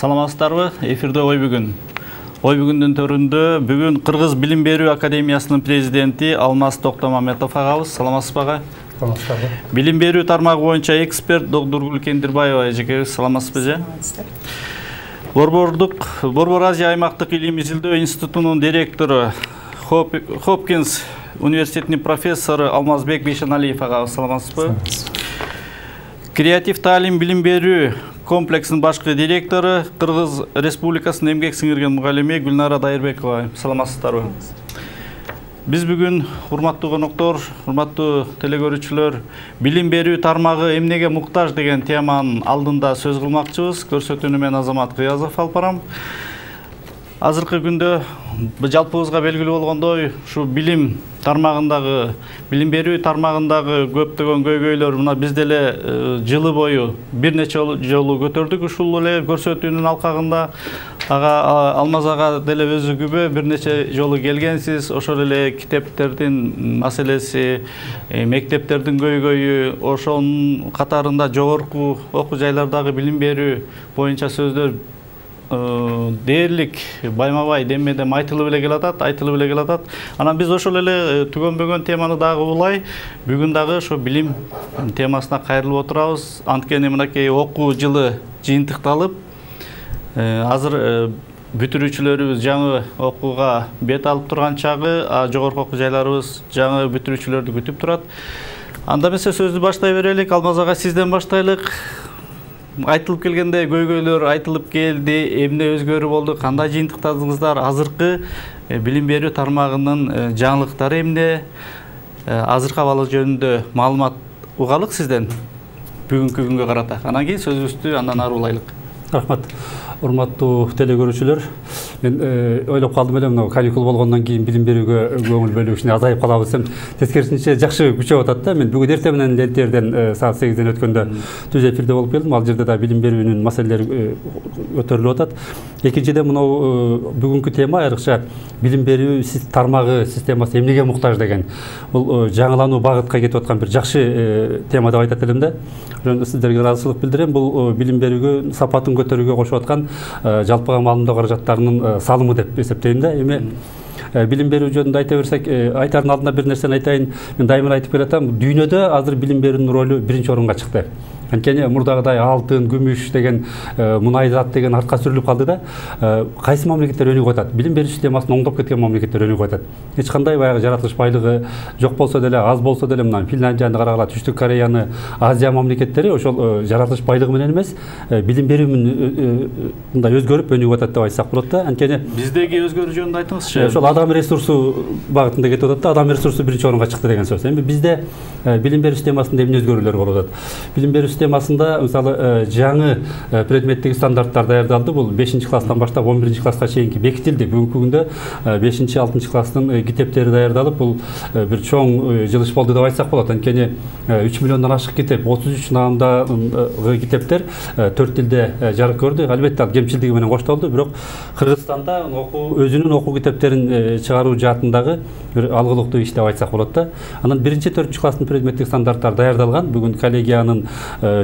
Саламатсыздарбы? Эфирде ой бүгүн. Ой бүгүндүн төрүндө бүгүн Кыргыз Билим берүү академиясынын президенти Алмаз Токтомаметов агабыз. Саламатсызбы ага? Саламатсыздарбы. Билим берүү тармагы боюнча эксперт Докторгүл Кендирбаева эжекебиз. Саламатсызбы же? Борбор Азия аймактык илим изилдөө институтунун директору Хопкинс университетинин профессору Алмазбек Бейшеналиев агабыз. Саламатсызбы? Креатив таалим билим берүү комплексинин башкы директору Кыргыз Республикасынын эмгек сиңирген мугалими Гүлнара Дайырбекова. Саламатсыздарбы? Биз бүгүн урматтуу коноктор, урматтуу телекөрүүчүлөр, билим берүү тармагы эмнеге муктаж деген теманын алдында сөз кылмакчыбыз. Көрсөтүүнү мен Азамат Кыязов алып барам. Азыркы күндө жалпыбызга белгилүү болгондой, ушу билим тармагындагы, билим берүү тармагындагы көптөгөн көйгөйлөр мына биз деле жылы бою бир нече жолу көтөрдүк ушул эле көрсөтүүнүн алкагында. Алмаз ага деле өзү күбө бир нече жолу келгенсиз, ошол эле китептердин маселеси, мектептердин көйгөйү, ошонун катарында жогорку окуу жайлардагы билим берүү боюнча сөздөр дээрлик байма-бай демедем айтылып эле келатат. Анан биз ошол эле түгөнбөгөн теманы дагы улай бүгүн дагы ошо билим темасына кайрылып отурабыз. Анткени мынакей окуу жылы жыйынтыкталып, азыр бүтүрүүчүлөрүбүз жаңы окууга бет алып турган чагы, жогорку окуу жайларыбыз жаңы бүтүрүүчүлөрдү күтүп турат. Анда эмесе сөздү баштай берелик. Алмаз ага, сизден баштайлык. Айтылып келгенде көйгөйлөр айтылып келди, эмне өзгөрүү болду, кандай жыйынтыктадыңыздар, азыркы билим берүү тармагынын жаңылыктары эмне, азыркы абалы жөнүндө маалымат угалык сизден бүгүнкү күнгө карата. Анан кийин сөзүбүздү андан ары улайлык. Рахмат. Урматтуу телекөрүүчүлөр, мен ойлоп калдым эле, мына каникул болгондон кийин билим берүүгө көңүл бөлүү кичине азайып калабыз десем, тескерисинче жакшы күчөп атат да. Мен бүгүн эртең менен лентерден саат 8ден өткөндө түз эфирде болуп келдим. Ал жерде да билим берүүнүн маселелери көтөрүлүп атат. Экинчиден, мынау бүгүнкү тема айрыкча билим берүү тармагы системасы эмнеге муктаж деген. Бул жаңылануу багытка кетип аткан бир жакшы тема деп айтат элем да. Сиздерге ыраазычылык билдирем. Бул билим берүүгө сапатын көтөрүүгө кошуп аткан жалпыга маалымдоо каражаттарынын салымы деп эсептейм да. Эми билим берүү жөнүндө айта берсек, айтардын алдында бир нерсени айтайын. Мен дайыма айтып келатам, дүйнөдө азыр билим берүүнүн ролу биринчи орунга чыкты. Анткени мурдагыдай алтын, күмүш деген, мунай зат деген артка сүрүлүп калды да. Кайсы мамлекеттер өнүгүп атат? Билим берүү системасын оңдоп кеткен мамлекеттер өнүгүп атат. Эч кандай баягы жаратылыш байлыгы жок болсо деле, аз болсо деле, мына Финляндияны карагыла, Түштүк Кореяны, Азия мамлекеттери ошол жаратылыш байлыгы менен эмес, билим берүү менен мындай өзгөрүп өнүгүп атат деп айтсак болот да. Анткени биздеги өзгөрүү жөнүндө айтыңызчы. Ошол адам ресурсу багытында кетип атат да, адам ресурсу биринчи орунга чыкты деген сөз. Эми бизде билим берүү системасында эмне өзгөрүүлөр болуп атат? Билим берүү системасында мисалы жаңы предметтик стандарттар даярдалды. Бул 5-класстан баштап 11 класска чейинки бекитилди. Бүгүнкү күндө 5-6 класстын китептери даярдалып, бул бир чоң жылыш болду деп айтсак болот. Анткени 3 миллиондон ашык китеп, 33 наамдагы китептер 4 тилде жарык көрдү. Албетте ал кемчилдиги менен коштолду, бирок Кыргызстанда өзүнүн окуу китептерин чыгаруу жаатындагы бир алгылыктуу иш деп айтсак болот да. Анан 1-4 класстын предметтик стандарттар даярдалган. Бүгүн коллегиянын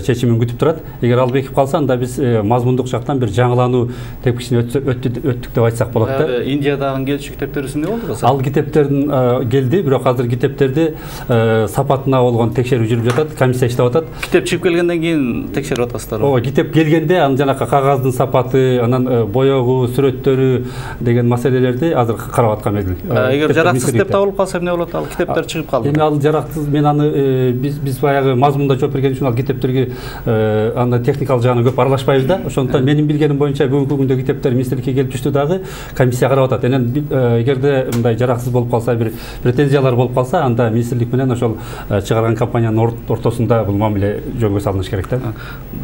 чечимин күтүп турат. Эгер ал бекип калса, анда биз мазмундук жактан бир жаңылануу тепкичине өттүк деп айтсак болот да. Индиядагы келчү китептер эмне болду? Ал китептердин келди, бирок азыр китептерди сапатына болгон текшерүү жүрүп жатат, комиссия иштеп атат. Китеп чыгып келгенден кийин текшерип атасыздар. Ооба, китеп келгенде анын жанакы кагаздын сапаты, анан боёгу, сүрөттөрү деген маселелерди азыр карап аткан мезгил. Эгер жараксыз деп табылып калса эмне болот? Ал китептер чыгып калды. Эми ал жараксыз, мен аны биз баягы мазмунда жооп берген үчүн ал китептерге анда техникалык жагына көп аралашпайбыз да. Ошондуктан менин билгеним боюнча бүгүнкү күндө китептер министрликке келип түштү дагы, комиссия карап атат. Анан эгерде мындай жараксыз болуп калса, бир претензиялар болуп калса, анда министрлик менен ошол чыгарган компаниянын ортосунда бул мамиле жөнгө салыныш керек да.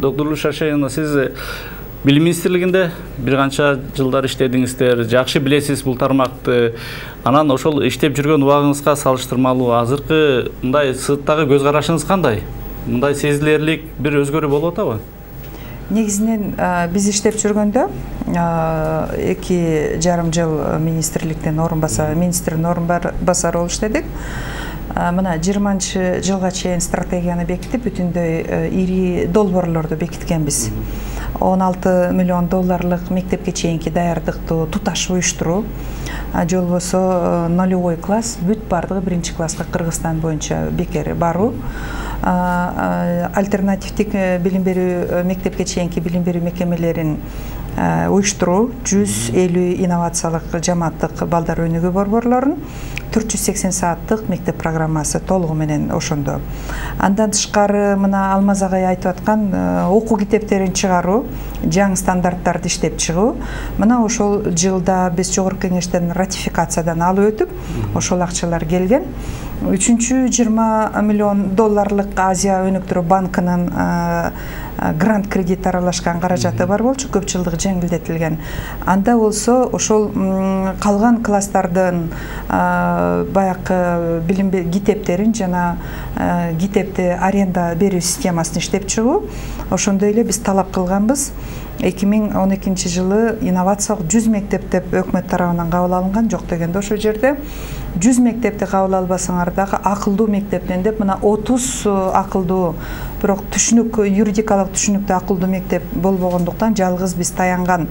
Доктор Шашеевна, сиз Билим министрлигинде бир канча жылдар иштедиңиздер, жакшы билесиз бул тармакты. Анан ошол иштеп жүргөн убагыңызга салыштырмалуу азыркы мындай сыттагы көз карашыңыз кандай? Мындай сезилерлик бир өзгөрүү болуп атабы? Негизинен биз иштеп жүргөндө 2,5 жыл министрликтин министрдин орун басары болуп иштедик. Мына 20-жылга чейин стратегияны бекитип, бүтүндөй ири долбоорлорду бекиткенбиз. $16 миллион мектепке чейинки даярдыктуу туташ уюштуруу, же болбосо нулевой класс бүт бардыгы 1-класска Кыргызстан боюнча бекер баруу, альтернативдик билим берүү мектепке чейинки билим берүү мекемелерин уюштуруу, 150 инновациялык жамааттык балдар өнүгүү борборлорун, 480 сааттык мектеп программасы толугу менен ошондо. Андан тышкары мына Алмаз агай айтып аткан окуу китептерин чыгаруу, жаңы стандарттарды иштеп чыгуу. Мына ошол жылда биз жогорку кеңештен ратификациядан алып өтүп, ошол акчалар келген. Үчүнчү $20 миллион Азия өнүктүрүү банкынын грант кредит аралашкан каражаты бар болчу, көп жылдык жеңилдетилген. Анда болсо ошол калган класстардын баягы билим китептерин жана китепти аренда берүү системасын иштеп чыгуу. Ошондой эле биз талап кылганбыз. 2012 жылы инновациялык 100 мектеп деп өкмөт тарабынан кабыл алынган, жок дегенде ошол жерде 100 мектепти кабыл албасаңар дагы акылдуу мектептен деп мына 30 акылдуу, бирок түшүнүк, юридикалык түшүнүктүү акылдуу мектеп болбогондуктан жалгыз биз таянган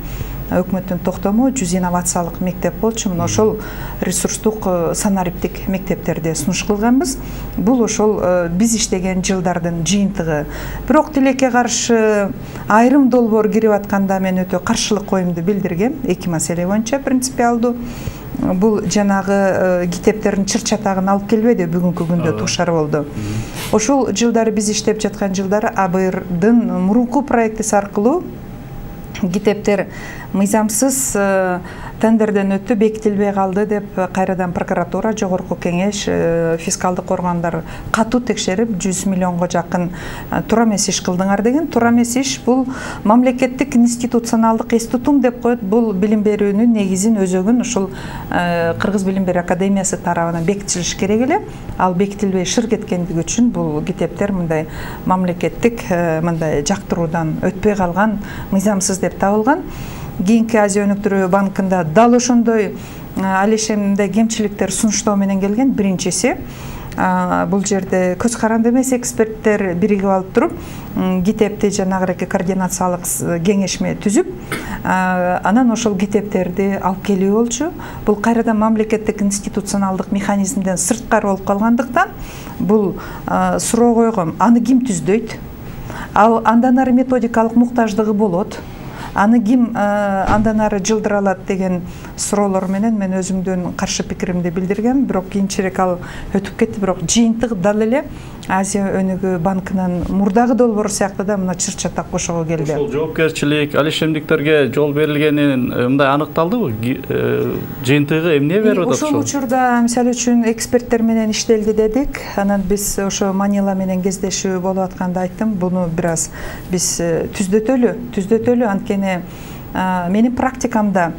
өкмөттүн токтому 100 инновациялык мектеп болчу. Мына ошол ресурстук санариптик мектептерди сунуш кылганбыз. Бул ошол биз иштеген жылдардын жыйынтыгы. Бирок тилекке каршы айрым долбоор кирип атканда мен өтө каршылык коюмду билдиргем. Эки маселе боюнча принципиалдуу. Бул жанагы китептердин чыр-чатагын алып келбеди, бүгүнкү күндө тушар болду. Ошол жылдары биз иштеп жаткан жылдары АБРдын мурунку проектиси аркылуу китептер мыйзамсыз тендерден өтүп бекитилбей калды деп кайрадан прокуратура, жогорку кеңеш, фискалдык органдар катуу текшерип 100 миллионго жакын туура эмес иш кылдыңар деген. Туура эмес иш бул мамлекеттик институционалдык эс тутум деп коет. Бул билим берүүнүн негизин, өзөгүн ушул Кыргыз билим берүү академиясы тарабынан бекитилиш керек эле. Ал бекитилбей шыр кеткендиги үчүн бул китептер мындай мамлекеттик мындай жактыруудан өтпөй калган, мыйзамсыз деп табылган. Кийинки Азия өнүктүрүү банкында дал ошондой алишемде кемчиликтер сунуштоо менен келген. Биринчиси, бул жерде көз каранды эмес эксперттер биригип алып туруп, китепти жанагыраки координациялык кеңешме түзүп, анан ошол китептерди алып келүү болчу. Бул кайрадан мамлекеттик институционалдык механизмден сырткары болуп калгандыктан бул суроо койгом, аны ким түздөйт? Ал андан ары методикалык муктаждыгы болот. Аны ким андан ары жылдыра алат деген суроолор менен мен өзүмдүн каршы пикиримди билдиргем. Бирок кийинчерээк ал өтүп кетти. Бирок жыйынтык дал эле Азия өнүгүү банкынын мурдагы долбоору сыяктуу да мына чыр-чатак кошого келди. Ошол жоопкерчилик, алишемдиктерге жол берилгенин мындай аныкталдыбы? Жыйынтыгы эмне берип атат ошол? Ошол учурда мисалы үчүн эксперттер менен иштелди дедик. Анан биз ошо Манила менен кездешүү болуп атканда айттым, буну бир аз биз түздөтөлү. Анткени менин практикамда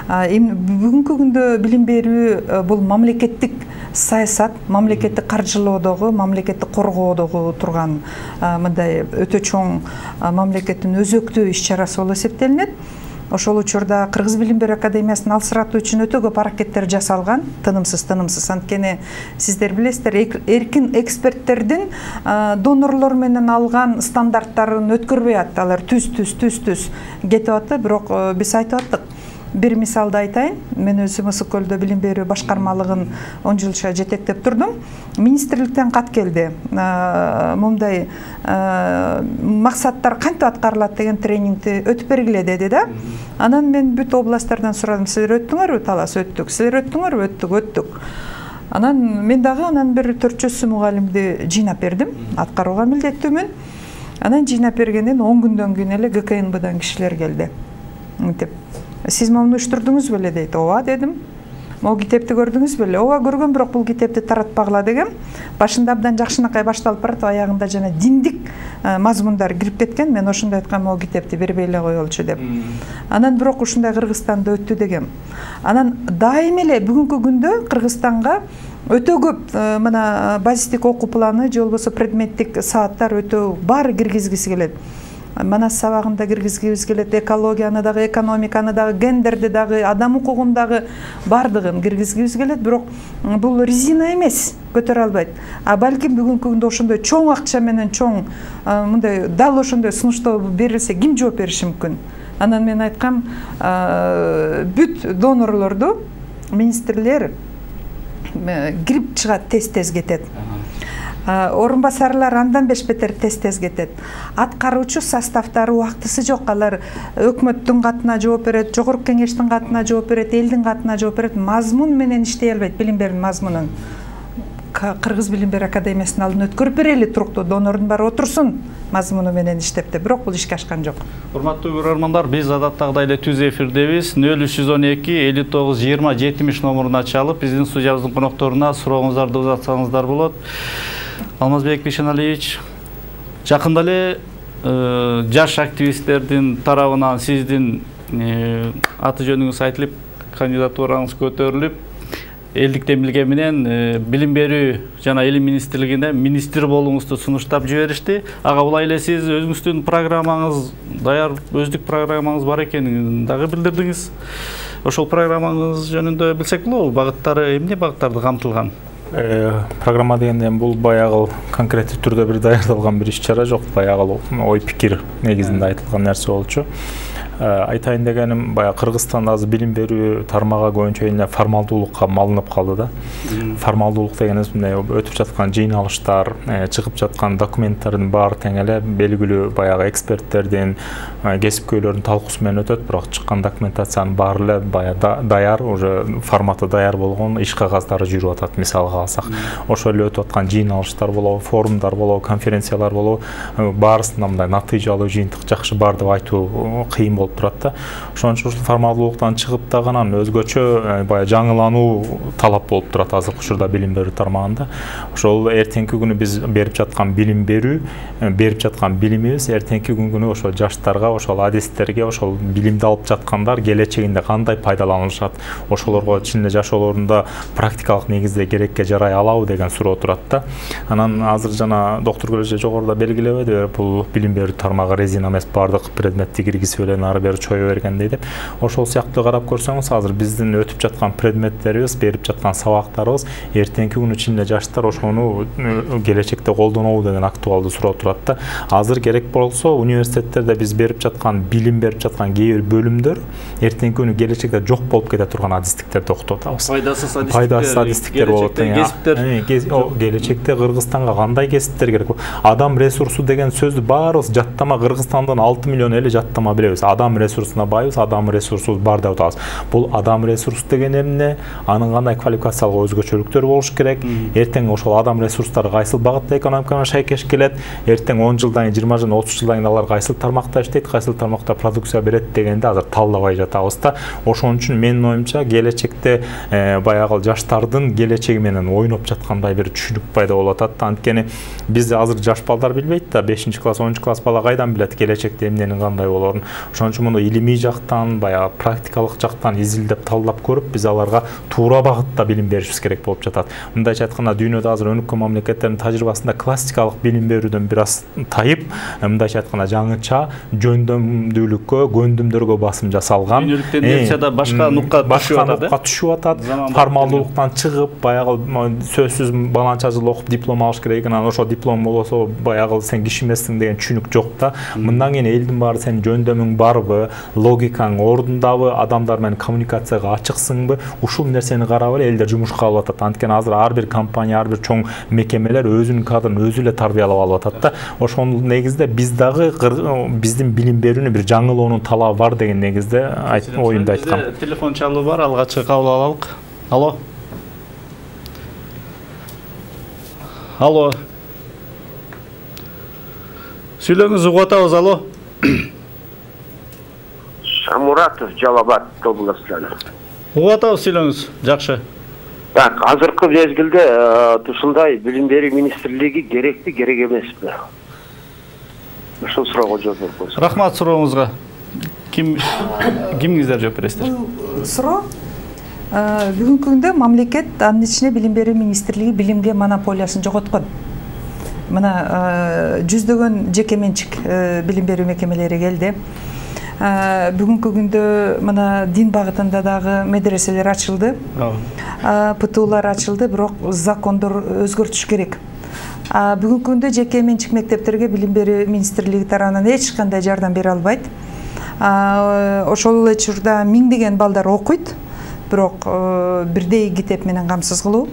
бүгүнкү күндө билим берүү бул мамлекеттик саясат, мамлекеттик каржылоодогу, мамлекеттик коргоодогу турган мындай өтө чоң мамлекеттин өзөктүү иш-чарасы болуп эсептелинет. Ошол учурда Кыргыз билим берүү академиясын алсыратуу үчүн өтө көп аракеттер жасалган, тынымсыз. Анткени сиздер билесиздер, эркин эксперттердин донорлор менен алган стандарттарын өткөрбөй атты. Алар түз кетип атты. Бирок биз айтып аттык. Бир мисалды айтайын. Мен өзүм Ысык көлдө билим берүү башкармалыгын 10 жылча жетектеп турдум. Министрликтен кат келди. Мындай максаттар кантип аткарылат деген тренингди өтүп бергиле деди да. Анан мен бүт областтардан сурадым. Силер өттүңөрбү? Талас өттүк. Силер өттүңөрбү? Өттүк. Анан мен дагы бир 400 мугалимди жыйнап бердим. Аткарууга милдеттүүмүн. Анан жыйнап бергенден 10 күндөн кийин эле ГКНБдан кишилер келди. Мынтип, сиз муну уюштурдуңуз беле дейт. Ооба дедим. Могу китепти көрдүңүз беле? Ооба көргөм, бирок бул китепти таратпагыла дегем. Башында абдан жакшынакай башталып барат, аягында жана диндик мазмундар кирип кеткен. Мен ошондой айткам, могу китепти бербей эле коелучу деп. Анан бирок ушундай Кыргызстанда өттү дегем. Анан дайым эле бүгүнкү күндө Кыргызстанга өтө көп мына базистик окуу планы же болбосо предметтик сааттар өтө баары киргизгиси келет. манас сабагында киргизгибиз келет, экологияны дагы, экономиканы дагы, гендерди дагы, адам укугун дагы бардыгын киргизгибиз келет, бирок бул резина эмес, көтөрө албайт. А балким бүгүнкү күндө ошондой чоң акча менен чоң мындай дал ошондой сунуштоо берилсе ким жооп бериши мүмкүн? Анан мен айткам, бүт донорлорду министрлер кирип чыгат, тез кетет. Орун басарлар андан бешбетер тез кетет. Аткаруучу составдары убактысы жок, алар өкмөттүн катына жооп берет, жогорку кеңештин катына жооп берет, элдин катына жооп берет, мазмун менен иштей албайт, билим берүүнүн мазмунун. Кыргыз билим берүү академиясынын алдын өткөрүп берели, туруктуу донордун баары отурсун мазмуну менен иштеп деп, бирок бул ишке ашкан жок. Урматтуу көрөрмандар, биз адаттагыдай эле түз эфирдебиз. 0312 59 20 70 номуруна чалып, биздин студиябыздын конокторуна сурооңуздарды узатсаңыздар болот. Алмазбек Бишеналиевич, жакында эле жаш активисттердин тарабынан сиздин аты жөнүңүз айтылып, кандидатураңыз көтөрүлүп, элдиктен билген менен билим берүү жана илим министрлигине министр болууңузду сунуштап жиберишти. Ага булай эле сиз өзүңүздүн программаңыз даяр, өздүк программаңыз бар экенин дагы билдирдиңиз. Ошол программаңыз жөнүндө билсек болобу? Багыттары эмне багыттарды камтылган? Программа дегенде бул баягы конкреттүү түрдө бир даярдалган бир иш-чара жок, баягы ой пикир негизинде айтылган нерсе болчу. Айтайын дегеним, баягы Кыргызстанда азыр билим берүү тармагы көбүнчө эле формалдуулукка малынып калды да. Формалдуулук дегенибиз мындай өтүп жаткан жыйналыштар, чыгып жаткан документтердин баары тең эле белгилүү баягы эксперттердин, кесипкөйлөрдүн талкуусу менен өтөт, бирок чыккан документациянын баары эле баягы даяр, уже форматы даяр болгон иш кагаздары жүрүп атат, мисалга алсак. Ошол эле өтүп аткан жыйналыштар болобу, форумдар болобу, конференциялар болобу, баарысында мындай натыйжалуу, жыйынтык жакшы бар деп айтуу кыйын болуп турат да. Ошон үчүн формалдуулуктан чыгып дагы анан өзгөчө баягы жаңылануу талап болуп турат азыркы учурда билим берүү тармагында. Ошол эртеңки күнү биз берип жаткан билим берүү, берип жаткан билимибиз эртеңки күнү ошол жаштарга, ошол адистерге, ошол билимди алып жаткандар келечегинде кандай пайдаланышат, ошолорго чын эле жашоолорунда практикалык негизде керекке жарай алабы деген суроо турат да. Анан азыр жана доктур Көлөжө жогоруда белгилебеди, бул билим берүү тармагы резина эмес, баардык предметти киргизип эле ары бери чое бергендей деп. Ошол сыяктуу карап көрсөңүз, азыр биздин өтүп жаткан предметтерибиз, берип жаткан сабактарыбыз эртеңки күнү чын эле жаштар ошону келечекте колдонобу деген актуалдуу суроо турат да. Азыр керек болсо университеттерде биз берип жаткан билим берип жаткан кээ бир бөлүмдөр эртеңки күнү келечекте жок болуп кете турган адистиктерди окутуп атабыз. Пайдасыз адистиктер болот. Келечекте Кыргызстанга кандай кесиптер керек? Адам ресурсу деген сөздү баарыбыз жаттама, Кыргызстандан 6 миллион эле жаттама билебиз. Адам ресурсуна байбыз, адам ресурсубуз бар деп атабыз. Бул адам ресурсу деген эмне? Анын кандай квалификациялык өзгөчөлүктөрү болуш керек? Эртең ошол адам ресурстары кайсыл багытта экономикага шайкеш келет? Эртең 10 жылдан кийин, 20 жылдан, 30 жылдан кийин алар кайсыл тармакта иштейт, кайсыл тармакта продукция берет дегенди азыр талдабай жатабыз да. Ошон үчүн менин оюмча келечекте баягы жаштардын келечеги менен ойноп жаткандай бир түшүнүк пайда болуп атат. Анткени биз азыр жаш балдар билбейт да, 5-класс, 10-класс бала кайдан билет келечекте эмненин кандай болорун. Ошон үчүн муну илимий жактан, баягы практикалык жактан изилдеп талдап көрүп, биз аларга туура багытта билим беришибиз керек болуп жатат. Мындайча айтканда, дүйнөдө азыр өнүккөн мамлекеттердин тажрыйбасында классикалык билим берүүдөн бир аз тайып, мындайча айтканда жаңыча жөндөмдүүлүккө, көндүмдөргө басым жасалган. Дүйнөлүк тенденцияда башка нукка түшүп атат. Формалдуулуктан чыгып, баягы сөзсүз баланча жыл окуп диплом алыш керек, анан ошо диплом болсо баягы сен киши эмессиң деген түшүнүк жок да. Мындан кийин элдин баары сенин жөндөмүң барбы, логикаң ордундабы, адамдар менен коммуникацияга ачыксыңбы, ушул нерсени карап эле элдер жумушка алып атат. Анткени азыр ар бир компания, ар бир чоң мекемелер өзүнүн кадрын өзү эле тарбиялап алып атат да. Ошол негизде биз дагы биздин билим берүүнү бир жаңылоонун талабы бар деген негизде оюмду айткам. Телефон чалуу бар, алгачкы кабыл алалык. Алло. Алло. Сүйлөңүз, угуп атабыз. Алло. Шамуратов, Жалал Абад областынан. Угуп атабыз, сүйлөңүз. Жакшы. Так, азыркы мезгилде ушундай билим берүү министрлиги керекпи, керек эмеспи? Ушул суроого жооп берип койсоңуз. Рахмат сурооңузга. Кимиңиздер жооп бересиздер? Суроо бүгүнкү күндө мамлекет, анын ичинде билим берүү министрлиги билимге монополиясын жоготкон. мына жүздөгөн жеке менчик билим берүү мекемелери келди. Бүгүнкү күндө мына дин багытында дагы медреселер ачылды, ПТУлар ачылды, бирок закондор өзгөртүш керек. Бүгүнкү күндө жеке менчик мектептерге билим берүү министрлиги тарабынан эч кандай жардам бере албайт. Ошол эле учурда миңдеген балдар окуйт, бирок бирдей китеп менен камсыз кылуу,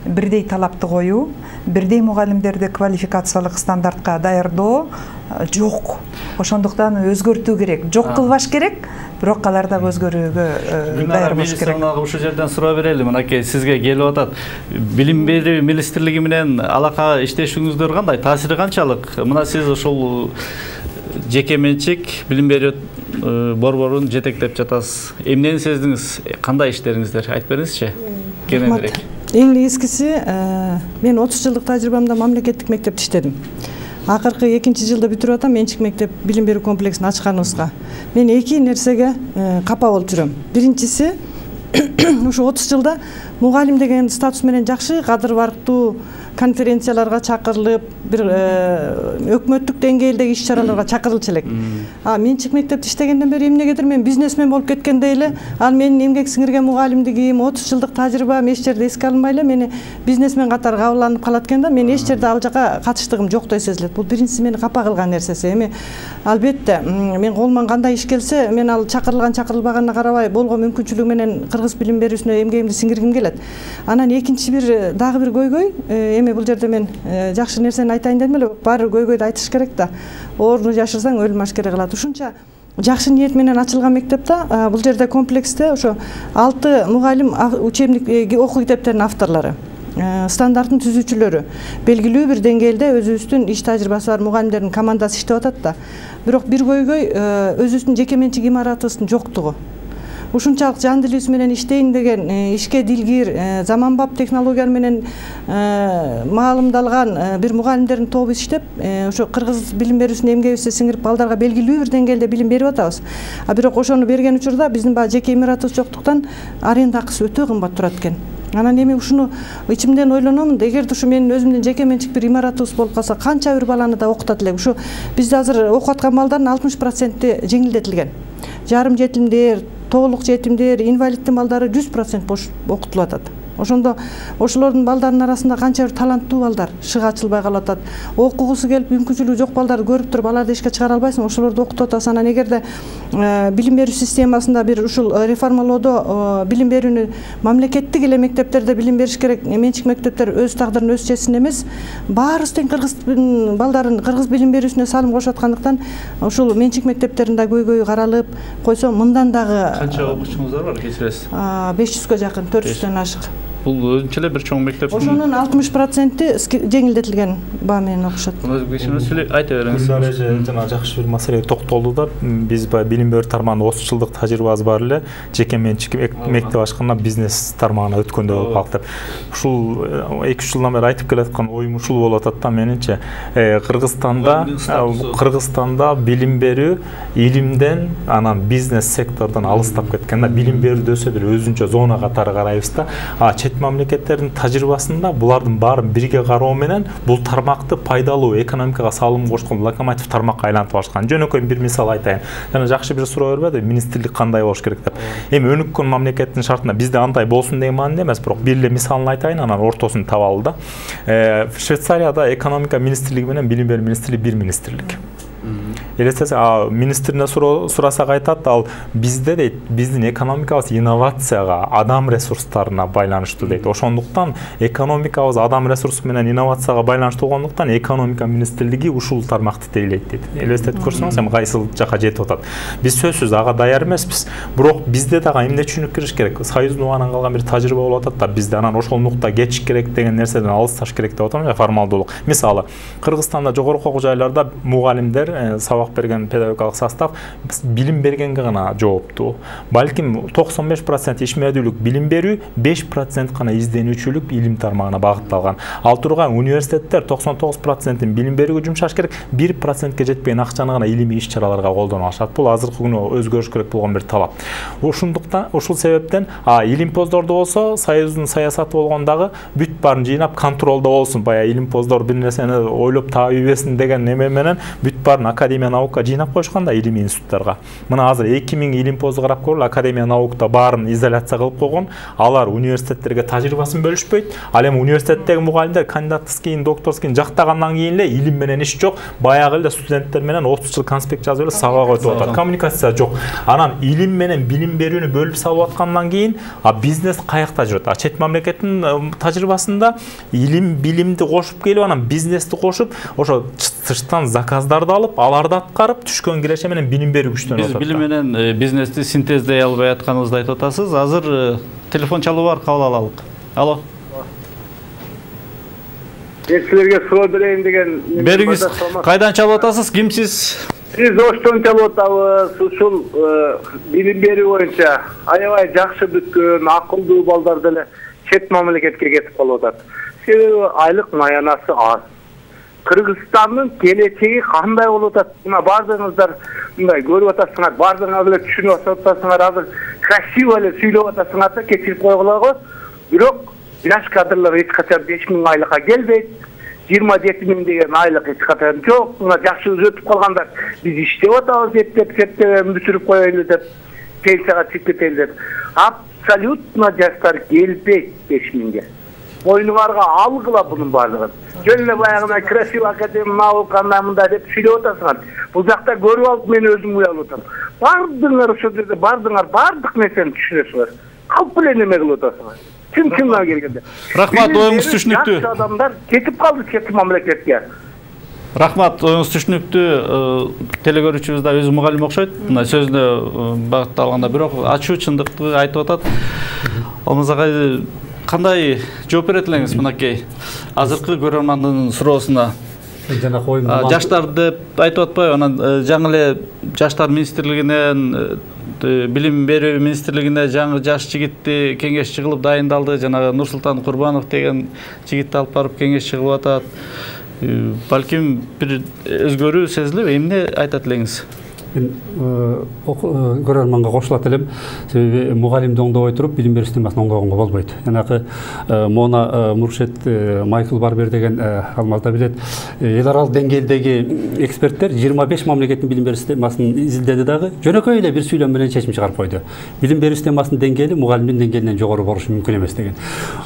бирдей талапты коюу, бирдей мугалимдерди квалификациялык стандартка даярдоо жок. Ошондуктан өзгөртүү керек. Жок кылбаш керек, бирок алар дагы өзгөрүүгө даяр болуш керек. Ушул жерден суроо берели. Мынакей сизге келип атат. Билим берүү министрлиги менен алака иштешиңиздер кандай? Таасири канчалык? Мына сиз ошол жеке менчик билим берүү борборун жетектеп жатасыз. Эмнени сездиңиз? Кандай иштериңиздер? Айтып бериңизчи. Кененирээк. Эң негизгиси, мен 30 жылдык тажрыйбамда мамлекеттик мектепте иштедим. Акыркы 2-чи жылда бүтүрүп атам менчик мектеп билим берүү комплексин ачканыбызга. Мен 2 нерсеге капа болуп жүрөм. Биринчиси, ушу 30 жылда мугалим деген статус менен жакшы, кадыр барктуу конференцияларга чакырылып, бир өкмөттүк деңгээлдеги иш-чараларга чакырылчу элек. Менчик мектепте иштегенден бери эмнегедир мен бизнесмен болуп кеткендей эле, ал менин эмгек сиңирген мугалимдигим, 30 жылдык тажрыйбам эч жерде эске алынбай эле мени бизнесмен катары кабылданып калат экен да, мен эч жерде ал жака катыштыгым жоктой сезилет. Бул биринчиси мени капа кылган нерсеси. Эми албетте мен колуман кандай иш келсе, мен ал чакырылган чакырылбаганына карабай болгон мүмкүнчүлүгү менен кыргыз билим берүүсүнө эмгегимди сиңиргим келет. Анан экинчи дагы бир көйгөй, эми бул жерде мен жакшы нерсени айтайын дедим эле, баары көйгөйдү айтыш керек да. Орду жашырсаң өлүм ашкере кылат. Ушунча жакшы ниет менен ачылган мектепте бул жерде комплексте ошо 6 мугалим учебник окуу китептеринин авторлору, стандарттын түзүүчүлөрү, белгилүү бир деңгээлде өзүбүздүн иш тажрыйбасы бар мугалимдердин командасы иштеп атат да. Бирок бир көйгөй өзүбүздүн жеке менчик имаратыбыздын жоктугу. Ушунчалык жан дилибиз менен иштейин деген, ишке дилгир, заманбап технологиялар менен маалымдалган бир мугалимдердин тобу иштеп, ошо кыргыз билим берүүсүнүн эмгегибизди сиңирип балдарга белгилүү бир деңгээлде билим берип атабыз. Бирок ошону берген учурда биздин баягы жеке имаратыбыз жоктуктан аренда акысы өтө кымбат турат экен. Анан эми ушуну ичимден ойлономун, эгерде ушу менин өзүмдүн жеке менчик бир имаратыбыз болуп калса, канча бир баланы да окутат элек. Ушу бизде азыр окуп аткан балдардын 60% жеңилдетилген. Жарым жетимдер, толук жетимдер, инвалиддин балдары 100% бош окутулуп атат. Ошондо ошолордун балдарынын арасында канча бир таланттуу балдар шыгы ачылбай калып атат. Окугусу келип мүмкүнчүлүгү жок балдарды көрүп туруп аларды эшикке чыгара албайсың, ошолорду окутуп атасың. Анан эгерде билим берүү системасында бир ушул реформалоодо билим берүүнү мамлекеттик эле мектептерде билим бериш керек, менчик мектептер өз тагдырын өз чечсин эмес, баарыбыз тең кыргыз балдарын кыргыз билим берүүсүнө салым кошуп аткандыктан ушул менчик мектептердин да көйгөйү каралып койсо, мындан дагы канча окуучуңуздар бар, кечиресиз? 500-га жакын, 400-дөн ашык. Бул өзүнчө эле бир чоң мектеп. Ошонун 60% жеңилдетилген баа менен окушат. Айта бериңиз. Жана жакшы бир маселеге токтолду да. Биз билим берүү тармагында 30 жылдык тажрыйбабыз бар эле. Жеке менчик мектеп ачканда бизнес тармагына өткөндө болуп калдык деп. Ушул 2-3 жылдан бери айтып келаткан оюм ушул болуп атат да менимче. Кыргызстанда билим берүү илимден, анан бизнес сектордон алыстап кеткен да. Билим берүүдө өсө бир өзүнчө зона катары карайбыз да. Мамлекеттердин тажрыйбасында булардын баарын бирге кароо менен бул тармакты пайдалуу, экономикага салым кошкон локомотив тармакка айлантып алышкан. Жөнөкөй бир мисал айтайын. Жана жакшы бир суроо бербеди, министрлик кандай болуш керек деп. Эми өнүккөн мамлекеттин шартында бизде андай болсун деген мааниде эмес, бирок бир эле мисалын айтайын, анан ортосун табалы да. Швейцарияда экономика министрлиги менен билим берүү министрлиги бир министрлик. Элестесе, министрине сурасак айтат, ал бизде дейт, биздин экономикабыз инновацияга, адам ресурстарына байланыштуу дейт. Ошондуктан экономикабыз адам ресурсу менен инновацияга байланыштуу болгондуктан экономика министрлиги ушул тармакты тейлейт дейт. Элестетип көрсөңүз, эми кайсыл жака жетип атат. Биз сөзсүз ага даяр эмеспиз. Бирок бизде дагы эмне түшүнүк кириш керек? Союздун убагынан калган бир тажрыйба болуп атат да, бизде анан ошол нукта geçiş керек деген нерседен алысташ керек деп атам, формалдуулук. Мисалы, Кыргызстанда жогорку окуу жайларда мугалимдер сабак сабак берген педагогикалык состав билим бергенге гана жооптуу. Балким 95% ишмердүүлүк билим берүү, 5% гана изденүүчүлүк илим тармагына багытталган. Ал турган университеттер 99% билим берүүгө жумшаш керек, 1%ке жетпеген акчаны гана илимий иш-чараларга колдоно алышат. Бул азыркы күнү өзгөрүш керек болгон бир талап. Ошондуктан ушул себептен илимпоздордо болсо, Союздун саясаты болгондагы бүт баарын жыйнап контролдо болсун. Баягы илимпоздор бир нерсени ойлоп табийбесин деген неме менен бүт баарын Академия наука жыйнап коюшкан да илимий институттарга. Мына азыр 2000 илимпозду карап көрүлү, Академия наукта баарын изоляция кылып койгон. Алар университеттерге тажрыйбасын бөлүшпөйт. Ал эми университеттеги мугалимдер кандидатский, докторский жактагандан кийин эле илим менен иш жок. Баягы эле студенттер менен 30 жыл конспект жазып эле сабак өтүп атат. Коммуникация жок. Анан илим менен билим берүүнү бөлүп салып аткандан кийин бизнес каякта жүрөт? Чет мамлекеттин тажрыйбасында илим билимди кошуп келип, анан бизнести кошуп, ошо тыштан заказдарды алып, аларды аткарып, түшкөн киреше менен билим берүү күчтөнүп атат. Биз билим менен бизнести синтездей албай атканыбызды айтып атасыз. Азыр телефон чалуу бар, кабыл алалык. Алло. Силерге суроо берейин деген. Бериңиз. Кайдан чалып атасыз? Кимсиз? Биз Оштон чалып атабыз. Ушул билим берүү боюнча аябай жакшы бүткөн, акылдуу балдар деле чет мамлекетке кетип калып атат. Себеби айлык маянасы аз. Кыргызстандын келечеги кандай болуп атат? Мына бардыгыңыздар мындай көрүп атасыңар, бардыгыңар эле түшүнүп атасыңар, азыр красиво эле сүйлөп атасыңар да кечирип койгула. Бирок жаш кадрлар эч качан 5000 айлыкка келбейт. 27.000 деген айлык эч качан жок. Мына жакшы өтүп калгандар биз иштеп атабыз деп бүтүрүп коелу деп пенсияга чыгып кетели деп. Абсолютно жаштар келбейт 5000ге. Боюңарга алгыла бунун баардыгын. Жөн эле баягы красиво академия наука мындай деп сүйлөп атасыңар. Бул жакта көрүп алып мен өзүм уялып атам. Бардыңар ошол жерде бардык нерсени түшүнөсүңөр. Калп эле неме кылып атасыңар. Чын-чындан келгенде. Рахмат, оюңуз түшүнүктүү. Адамдар кетип калды чет мамлекетке. Рахмат, оюңуз түшүнүктүү. Телегөрүүчүбүз да өзү мугалим окшойт. Мына сөзүнө багытталганда бирок ачуу чындыкты айтып атат. Алмазагай кандай жооп берет элеңиз мынакей азыркы көрөрмандын суроосуна? Жаштар деп айтып атпайбы? Анан жаңы эле жаштар министрлигинен, билим берүү министрлигине жаңы жаш жигитти кеңешчи кылып дайындалды. Жанагы Нурсултан Курбанов деген жигитти алып барып кеңешчи кылып атат. Балким бир өзгөрүү сезилеби? Эмне айтат элеңиз? Мен көрөрманга кошулат элем. Себеби мугалимди оңдобой туруп билим берүү системасын оңдогонго болбойт. Жанагы Мона Муршет Майкл Барбер деген Алмазда билет. Эл аралык деңгээлдеги эксперттер 25 мамлекеттин билим берүү системасын изилдеди дагы жөнөкөй эле бир сүйлөм менен чечим чыгарып койду. Билим берүү системасынын деңгээли мугалимдин деңгээлинен жогору болушу мүмкүн эмес деген.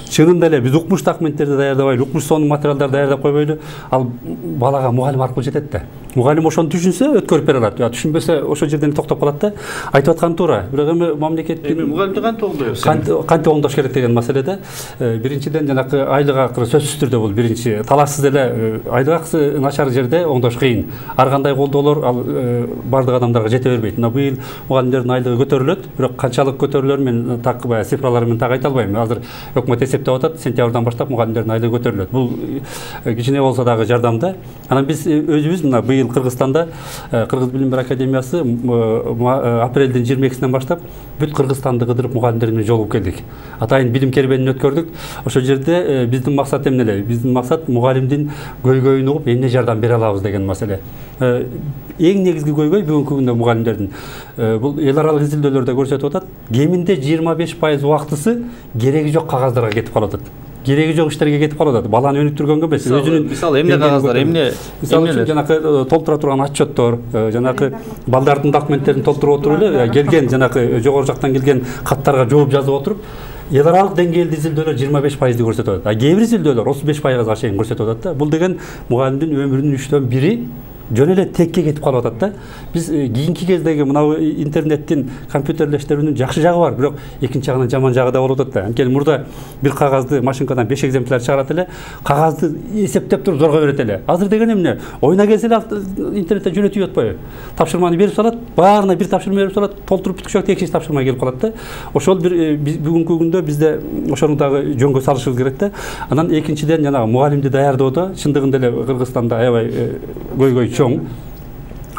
Чынында эле биз укмуш документтерди даярдабайлы, укмуш сонун материалдарды даярдап койбойлу, ал балага мугалим аркылуу жетет да. Мугалим ошону түшүнсө өткөрүп бере алат. Түшүнбөсө ошол жерден токтоп калат да. Айтып аткан туура. Бирок эми мамлекеттин мугалимди кантип оңдойбуз? Кантип оңдош керек деген маселеде биринчиден жанакы айлык акы сөзсүз түрдө бул биринчи. Талашсыз эле айлык акысы начар жерде оңдош кыйын. Ар кандай колдоолор ал бардык адамдарга жете бербейт. Мына быйыл мугалимдердин айлыгы көтөрүлөт, бирок канчалык көтөрүлөрүн мен так баягы цифралар менен так айта албайм. Азыр өкмөт эсептеп атат, сентябрдан баштап мугалимдердин айлыгы көтөрүлөт. Бул кичине болсо дагы жардам да. Анан биз өзүбүз мына быйыл Кыргызстанда Кыргыз билим берүү академиясы апрелдин 22-синен баштап бүт Кыргызстанды кыдырып мугалимдер менен жолугуп келдик. Атайын билим кербенин өткөрдүк. Ошол жерде биздин максат эмне эле? Биздин максат мугалимдин көйгөйүн угуп эмне жардам бере алабыз деген маселе. Эң негизги көйгөй бүгүнкү күндө мугалимдердин бул эл аралык изилдөөлөрдө көрсөтүп атат. Кеминде 25% убактысы кереги жок кагаздарга кетип калып атат. Кереги жок иштерге кетип калып атат. Баланы өнүктүргөнгө эмес, өзүнүн мисалы эмне кагаздар, эмне жанакы толтура турган отчеттор, жанакы балдардын документтерин толтуруп отуруп эле келген жанакы жогору жактан келген каттарга жооп жазып отуруп эл аралык деңгээлде изилдөөлөр 25%-ди көрсөтүп атат. Кээ бир изилдөөлөр 35%-га чейин көрсөтүп атат да. Бул деген мугалимдин өмүрүнүн 3/4 бири жөн эле текке кетип калып атат да. Биз кийинки кездеги мына интернеттин компьютерлештирүүнүн жакшы жагы бар, бирок экинчи жагынан жаман жагы да болуп атат да. Анткени мурда бир кагазды машинкадан 5 экземпляр чыгарат эле, кагазды эсептеп туруп зорго берет эле. Азыр деген эмне? Оюна келсе эле интернетте жөнөтүп атпайбы? Тапшырманы берип салат, баарына бир тапшырма берип салат, толтуруп бүткүчөк экинчи тапшырма келип калат да. Ошол бир бүгүнкү күндө бизде ошону дагы жөнгө салышыбыз керек да. Анан экинчиден жанагы мугалимди даярдоодо чындыгында эле Кыргызстанда аябай көйгөй чоң.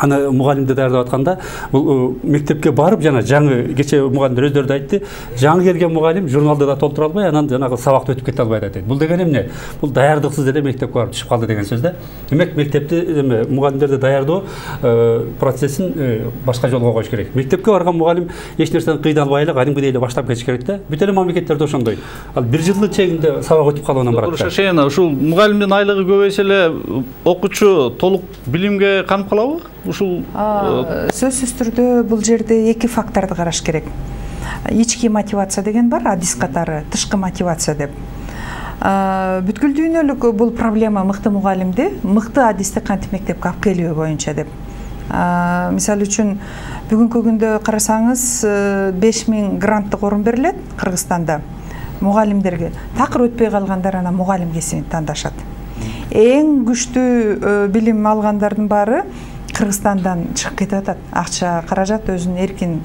аны мугалимди даярдап атканда бул мектепке барып жана жаңы кечээ мугалимдер өздөрү да айтты, жаңы келген мугалим журналды да толтура албай, анан жанагы сабакты өтүп кете албай дейт. Бул деген эмне? Бул даярдыксыз эле мектепке барып түшүп калды деген сөз да. Демек мектепти мугалимдерди даярдоо процессин башка жолго коюш керек. Мектепке барган мугалим эч нерсени кыйналбай эле кадимкидей эле баштап кетиш керек да. Бүт эле мамлекеттерде ошондой. Ал 1 жылдын чегинде сабак өтүп калгандан барат. Шашена ушул мугалимдин айлыгы көбөйсө эле окуучу толук билимге канып калабы? Ушул сөзсүз түрдө бул жерде эки факторду караш керек. Ички мотивация деген бар, адис катары тышкы мотивация деп. Бүткүл дүйнөлүк бул проблема мыкты мугалимди, мыкты адисти кантип мектепке алып келүү боюнча деп. Мисалы үчүн бүгүнкү күндө карасаңыз 5000 гранттык орун берилет Кыргызстанда мугалимдерге. Такыр өтпөй калгандар анан мугалим кесибин тандашат. Эң күчтүү билим алгандардын баары Кыргызстандан чыгып кетип атат. Акча, каражат өзүнүн эркин.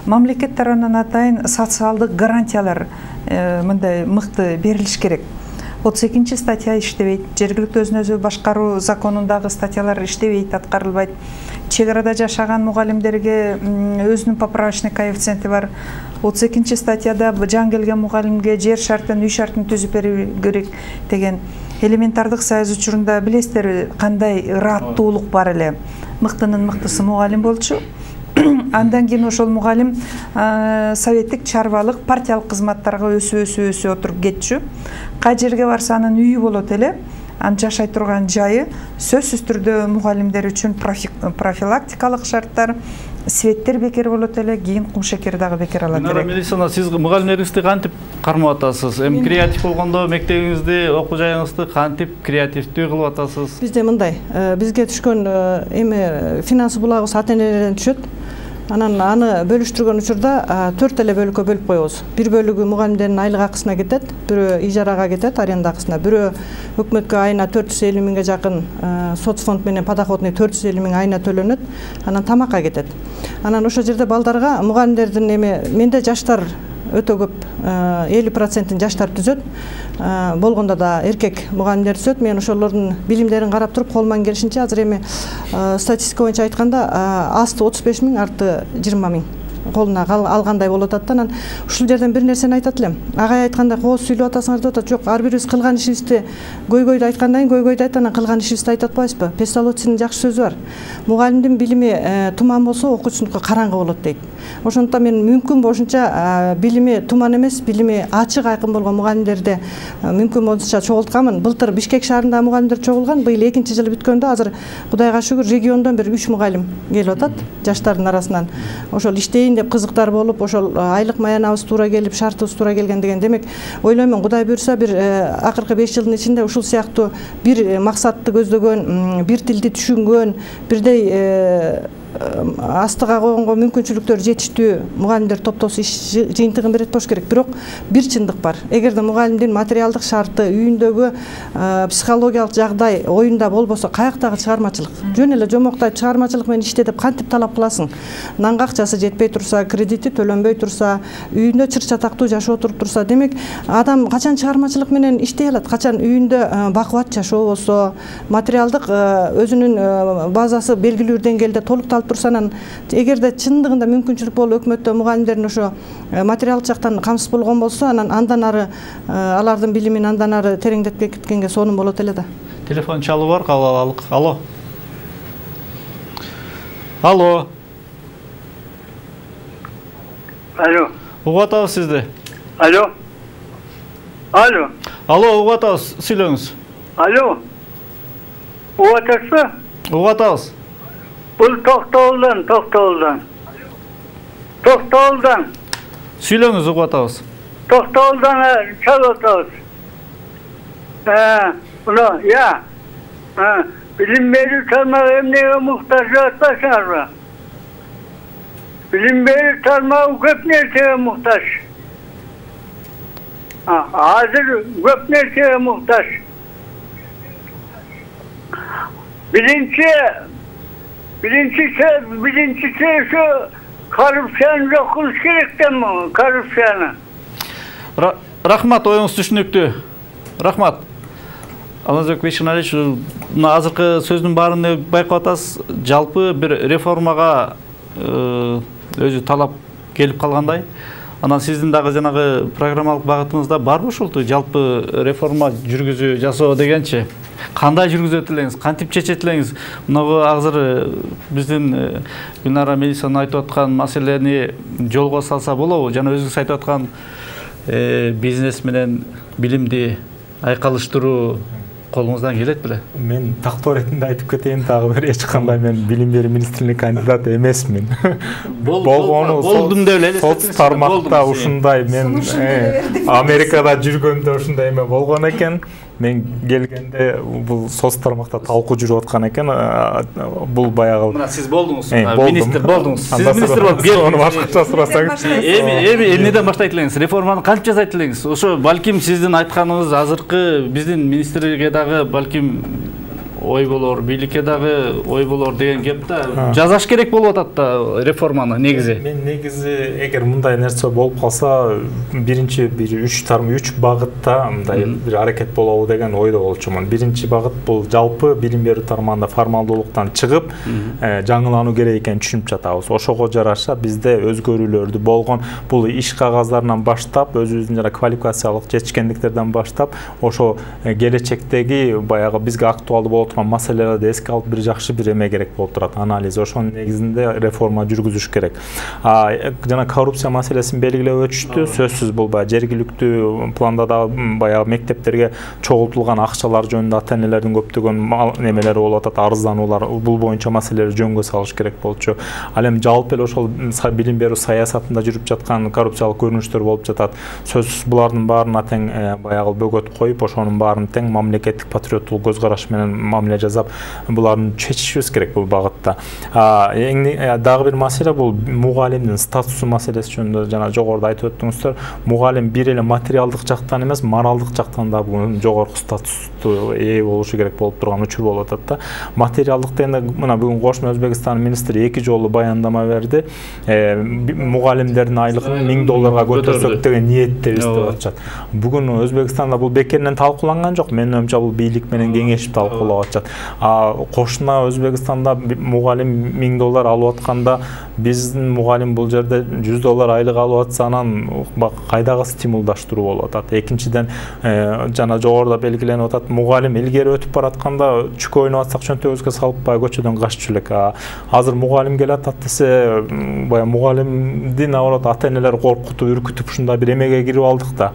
Мамлекет тарабынан атайын социалдык гарантиялар мындай мыкты берилиш керек. 32 статья иштебейт, жергиликтүү өзүн өзү башкаруу законундагы статьялар иштебейт, аткарылбайт. Чек арада жашаган мугалимдерге өзүнүн поправочный коэффициенти бар. 32 статьяда жаңы келген мугалимге жер шартын, үй шартын түзүп берүү керек деген элементардык союз учурунда билесиздер кандай ыраттуулук бар эле. Мыктынын мыктысы мугалим болчу. Андан кийин ошол мугалим советтик, чарбалык, партиялык кызматтарга өсүп отуруп кетчү. Кай жерге барса анын үйү болот эле. Анын жашай турган жайы сөзсүз түрдө мугалимдер үчүн профилактикалык шарттар, светтер бекер болот эле, кийин кум шекер дагы бекер алат элек. Мелисана, сиз мугалимдериңизди кантип кармап атасыз? Эми креатив болгондо мектебиңизди, окуу жайыңызды кантип креативдүү кылып атасыз? Бизде мындай, бизге түшкөн эми финансы булагыбыз ата-энелерден түшөт. Анан аны бөлүштүргөн учурда 4 эле бөлүккө бөлүп коебуз. Бир бөлүгү мугалимдердин айлык акысына кетет, бирөө ижарага кетет, аренда акысына, бирөө өкмөткө айына 450 миңге жакын соцфонд менен подоходный 450 миң айына төлөнөт, анан тамакка кетет. Анан ошол жерде балдарга мугалимдердин менде жаштар өтө көп, 50% жаштар түзөт. Болгондо да эркек мугалимдер түзөт. Мен ошолордун билимдерин карап туруп колуман келишинче азыр эми статистика боюнча айтканда асты 35 миң, арты 20 миң колуна алгандай болуп атат да. Анан ушул жерден бир нерсени айтат элем. Агай айтканда кооз сүйлөп атасыңар деп атат. Жок, ар бирибиз кылган ишибизди көйгөйдү айткандан кийин көйгөйдү айт, анан кылган ишибизди айтып атпайбызбы? Песталоцинин жакшы сөзү бар. Мугалимдин билими туман болсо, окуучунуку караңгы болот дейт. Ошондуктан мен мүмкүн болушунча билими туман эмес, билими ачык айкын болгон мугалимдерди мүмкүн болушунча чогултканмын. Былтыр Бишкек шаарында мугалимдер чогулган, быйыл 2-жыл бүткөндө азыр Кудайга шүгүр региондон бир 3 мугалим келип атат жаштардын арасынан. Ошол иштейин деп кызыктар болуп, ошол айлык маянабыз туура келип, шартыбыз туура келген деген. Демек, ойлоймун, Кудай буйрса бир акыркы 5 жылдын ичинде ушул сыяктуу бир максатты көздөгөн, бир тилди түшүнгөн, бирдей астыга койгонго мүмкүнчүлүктөр жетиштүү мугалимдер топтосу иш жыйынтыгын берет болуш керек. Бирок бир чындык бар. Эгерде мугалимдин материалдык шарты, үйүндөгү психологиялык жагдай оюнда болбосо, каяктагы чыгармачылык? Жөн эле жомоктойт чыгармачылык менен иште деп кантип талап кыласың? Нанга акчасы жетпей турса, кредити төлөнбөй турса, үйүндө чыр-чатактуу жашоо туруп турса, демек адам качан чыгармачылык менен иштей алат? Качан үйүндө бакубат жашоо болсо, материалдык өзүнүн базасы белгилүү деңгээлде толук турса, анан эгерде чындыгында мүмкүнчүлүк болуп өкмөттө мугалимдердин ошо материалдык жактан камсыз болгон болсо, анан андан ары алардын билимин андан ары тереңдетип кеткенге сонун болот эле да. Телефон чалуу бар, кабыл алалык. Алло. Алло. Алло. Угуп атабыз сизди. Алло. Алло. Алло, угуп атабыз, сүйлөңүз. Алло. Угуп атасызбы? Угуп атабыз. Бул Токтоолдон. Сүйлөңүз, угуп атабыз. Токтоолдон чалып атабыз. Я. Билим берүү тармагы эмнеге муктаж деп атпайсыңарбы? Билим берүү тармагы көп нерсеге муктаж. Азыр көп нерсеге муктаж. Биринчиси ошо коррупцияны жок кылыш керек да, коррупцияны. Рахмат, оюңуз түшүнүктүү. Рахмат. Алмазбек Бейшеналиевич, мына азыркы сөздүн баарын байкап атасыз, жалпы бир реформага өзү талап келип калгандай. Анан сиздин дагы жанагы программалык багытыңызда барбы ушулту жалпы реформа жүргүзүү жасоо дегенчи? Кандай жүргүзөт элеңиз, кантип чечет элеңиз? Мынагы азыр биздин Гүлнара Мелисанын айтып аткан маселени жолго салса болобу? Жана өзүңүз айтып аткан бизнес менен билимди айкалыштыруу колуңуздан келет беле? Мен тактоо иретинде айтып кетейин, дагы бир эч кандай мен билим берүү министрлигине кандидаты эмесмин. Болдум деп эле соц тармакта ушундай мен Америкада жүргөндө ушундай эме болгон экен. Мен келгенде бул соц тармакта талкуу жүрүп аткан экен. Бул баягы мына сиз болдуңуз, министр болдуңуз. Сиз министр болуп аны башкача сурасаңыз. Эмнеден баштайт элеңиз? Реформаны кантип жасайт элеңиз? Ошо балким сиздин айтканыңыз азыркы биздин министрге дагы балким ой болор, бийликке дагы ой болор деген кеп да. Жазаш керек болуп атат да реформаны негизи. Мен негизи эгер мындай нерсе болуп калса, биринчи бир 3 багытта мындай бир аракет болобу деген ойдо болчумун. Биринчи багыт бул жалпы билим берүү тармагында формалдуулуктан чыгып, жаңылануу керек экенин түшүнүп жатабыз. Ошого жараша бизде өзгөрүүлөрдү болгон бул иш кагаздарынан баштап, өзүбүздүн жана квалификациялык жетишкендиктерден баштап, ошо келечектеги баягы бизге актуалдуу болот маселелерди эске алып бир жакшы бир эме керек болуп турат, анализ. Ошонун негизинде реформа жүргүзүш керек. Жана коррупция маселесин белгилеп өтүштү. Сөзсүз бул баягы жергиликтүү планда да баягы мектептерге чогултулган акчалар жөнүндө ата-энелердин көптөгөн немелери болуп атат, арыздануулар. Бул боюнча маселелерди жөнгө салыш керек болчу. Ал эми жалпы эле ошол билим берүү саясатында жүрүп жаткан коррупциялык көрүнүштөр болуп жатат. Сөзсүз булардын баарына тең баягы бөгөт коюп, ошонун баарын тең мамлекеттик патриоттук көз караш менен мамиле жасап, буларын чечишибиз керек бул багытта. Дагы бир маселе бул мугалимдин статусу маселеси жөнүндө жана жогоруда айтып өттүңүздөр. Мугалим бир эле материалдык жактан эмес, моралдык жактан да бүгүн жогорку статусту ээ болушу керек болуп турган учур болуп атат да. Материалдык дегенде мына бүгүн Кошмо Өзбекстан министри 2 жолу баяндама берди. Мугалимдердин айлыгын $1000 көтөрсөк деген ниеттебиз деп атышат. Бүгүн Өзбекстанда бул бекеринен талкууланган жок. Менин оюмча бул бийлик менен кеңешип талкуулап атышат. Кошуна Өзбекстанда мугалим $1000 алып атканда, биздин мугалим бул жерде $100 айлык алып атса, анан кайдагы стимулдаштыруу болуп атат. Экинчиден, жана жогоруда белгиленип атат, мугалим илгери өтүп баратканда чүкө ойноп атсак чөнтөгүбүзгө салып баягы көчөдөн каччу элек. Азыр мугалим келатат десе, баягы мугалимдин наоборот ата-энелер коркутуп, үркүтүп ушундай бир эмеге кирип алдык да.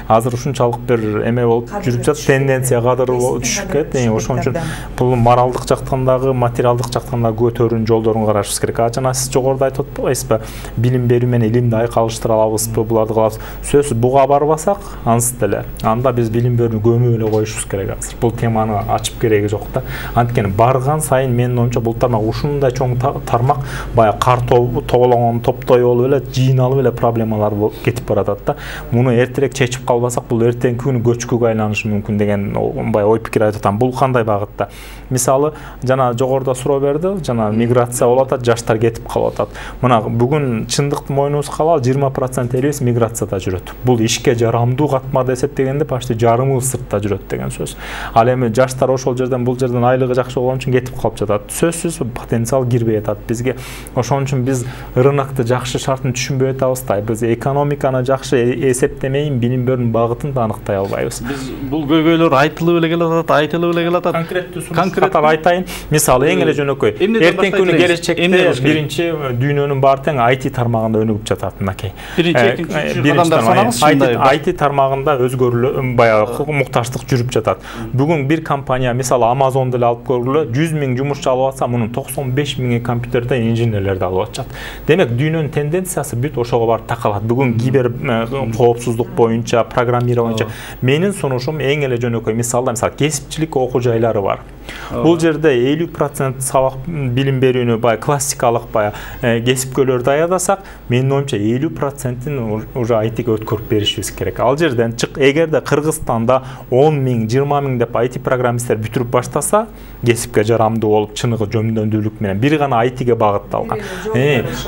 Азыр ушунчалык бир эме болуп жүрүп жатат, тенденция кадыр түшүп кетти. Ошон үчүн бул моралдык жактан дагы, материалдык жактан дагы көтөрүүнүн жолдорун карашыбыз керек. Жана сиз жогоруда айтып атпайсызбы? Билим берүү менен илимди айкалыштыра алабызбы? Буларды кылабыз. Сөзсүз буга барбасак, ансыз деле. Анда биз билим берүүнү көмүп эле коюшубуз керек азыр. Бул теманы ачып кереги жок да. Анткени барган сайын менин оюмча бул тармак ушундай чоң тармак баягы кар тоголонгон топтой болуп эле, жыйналып эле проблемалар кетип баратат да. Муну эртерээк чечип калбасак, бул эртеңки күнү көчкүгө айланышы мүмкүн деген баягы ой пикир айтып атам. Бул кандай багытта? Мисалы, жана жогоруда суроо берди, жана миграция болуп атат, жаштар кетип калып атат. Мына бүгүн чындыкты мойнубузга алалы, 20% элибиз миграцияда жүрөт. Бул ишке жарамдуу катмарды эсептегенде почти жарымы сыртта жүрөт деген сөз. Ал эми жаштар ошол жерден бул жерден айлыгы жакшы болгон үчүн кетип калып жатат. Сөзсүз потенциал кирбей атат бизге. Ошон үчүн биз рынокты жакшы шартын түшүнбөй атабыз да. Биз экономиканы жакшы эсептемейин, билим берүүнүн багытын да аныктай албайбыз. Биз бул көйгөйлөр айтылып эле келатат, айтылып эле келатат. Конкреттүү айтайын. Мисалы, эң эле жөнөкөй. Эртеңки күнү келечекте биринчи дүйнөнүн баары тең IT тармагында өнүгүп жатат мынакей. IT тармагында өзгөрүүлөр баягы мукташтык жүрүп жатат. Бүгүн бир компания, мисалы Amazon деле алып көргүлө, 100 000 жумушчу алып атса, мунун 95 000 компьютерде инженерлерди алып атышат. Демек, дүйнөнүн тенденциясы бүт ошого барып такалат. Бүгүн кибер коопсуздук боюнча, программирование боюнча менин сунушум эң эле жөнөкөй. Мисалы кесипчилик окуу жайлары бар. Бул жерде 50% сабак билим берүүнү баягы классикалык баягы кесипкөйлөр даярдасак, менин оюмча 50%-ин уже айтиге өткөрүп беришибиз керек. Ал жерден эгерде Кыргызстанда 10 миң, 20 миң деп IT программисттер бүтүрүп баштаса, кесипке жарамдуу болуп, чыныгы жөндөмдүүлүк менен бир гана IT-ге багытталган.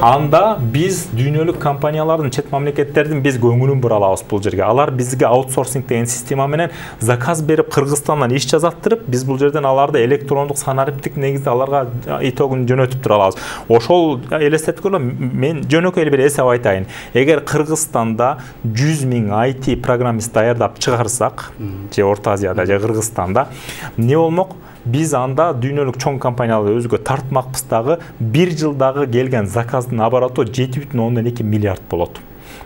Анда биз дүйнөлүк компаниялардын, чет мамлекеттердин биз көңүлүн бура алабыз бул жерге. Алар бизге аутсорсинг деген система менен заказ берип, Кыргызстандан иш жазаттырып, биз бул жерден аларды электрондук санариптик негизде аларга итогун жөнөтүп тура алабыз. Ошол элестетип көргөн, мен жөнөкөй эле бир эсеп айтайын. Эгер Кыргызстанда 100 миң IT программист даярдап чыгарсак, же Орто Азияда, же Кыргызстанда, эмне болмок? Биз анда дүйнөлүк чоң компанияларды өзгө тартмакпыз дагы, бир жылдагы келген заказдын обороту 7,2 миллиард болот.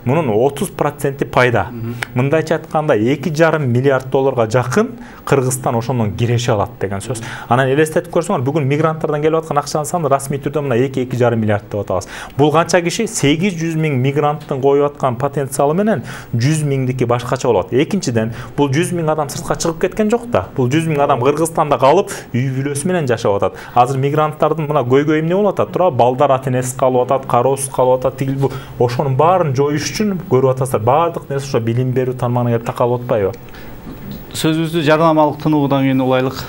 Мунун 30% пайда. Мындайча айтканда 2,5 миллиард долларга жакын Кыргызстан ошондон киреше алат деген сөз. Анан элестетип көрсөңөр, бүгүн мигранттардан келип аткан акчанын саны расмий түрдө мына 2,5 миллиард деп атабыз. Бул канча киши? 800 миң мигранттын коюп аткан потенциалы менен 100 миңдики башкача болот. Экинчиден, бул 100 миң адам сыртка чыгып кеткен жок да. Бул 100 миң адам Кыргызстанда калып, үй бүлөсү менен жашап атат. Азыр мигранттардын мына көйгөйү эмне болуп атат? Тура балдар ата-энесиз калып атат, кароосуз калып атат, тигил бул. Ошонун баарын жоюш үчүн көрүп атасыздар, баардык нерсе ошо билим берүү тармагына келип такалып атпайбы? Сөзүбүздү жарнамалык тынуудан кийин улайлык.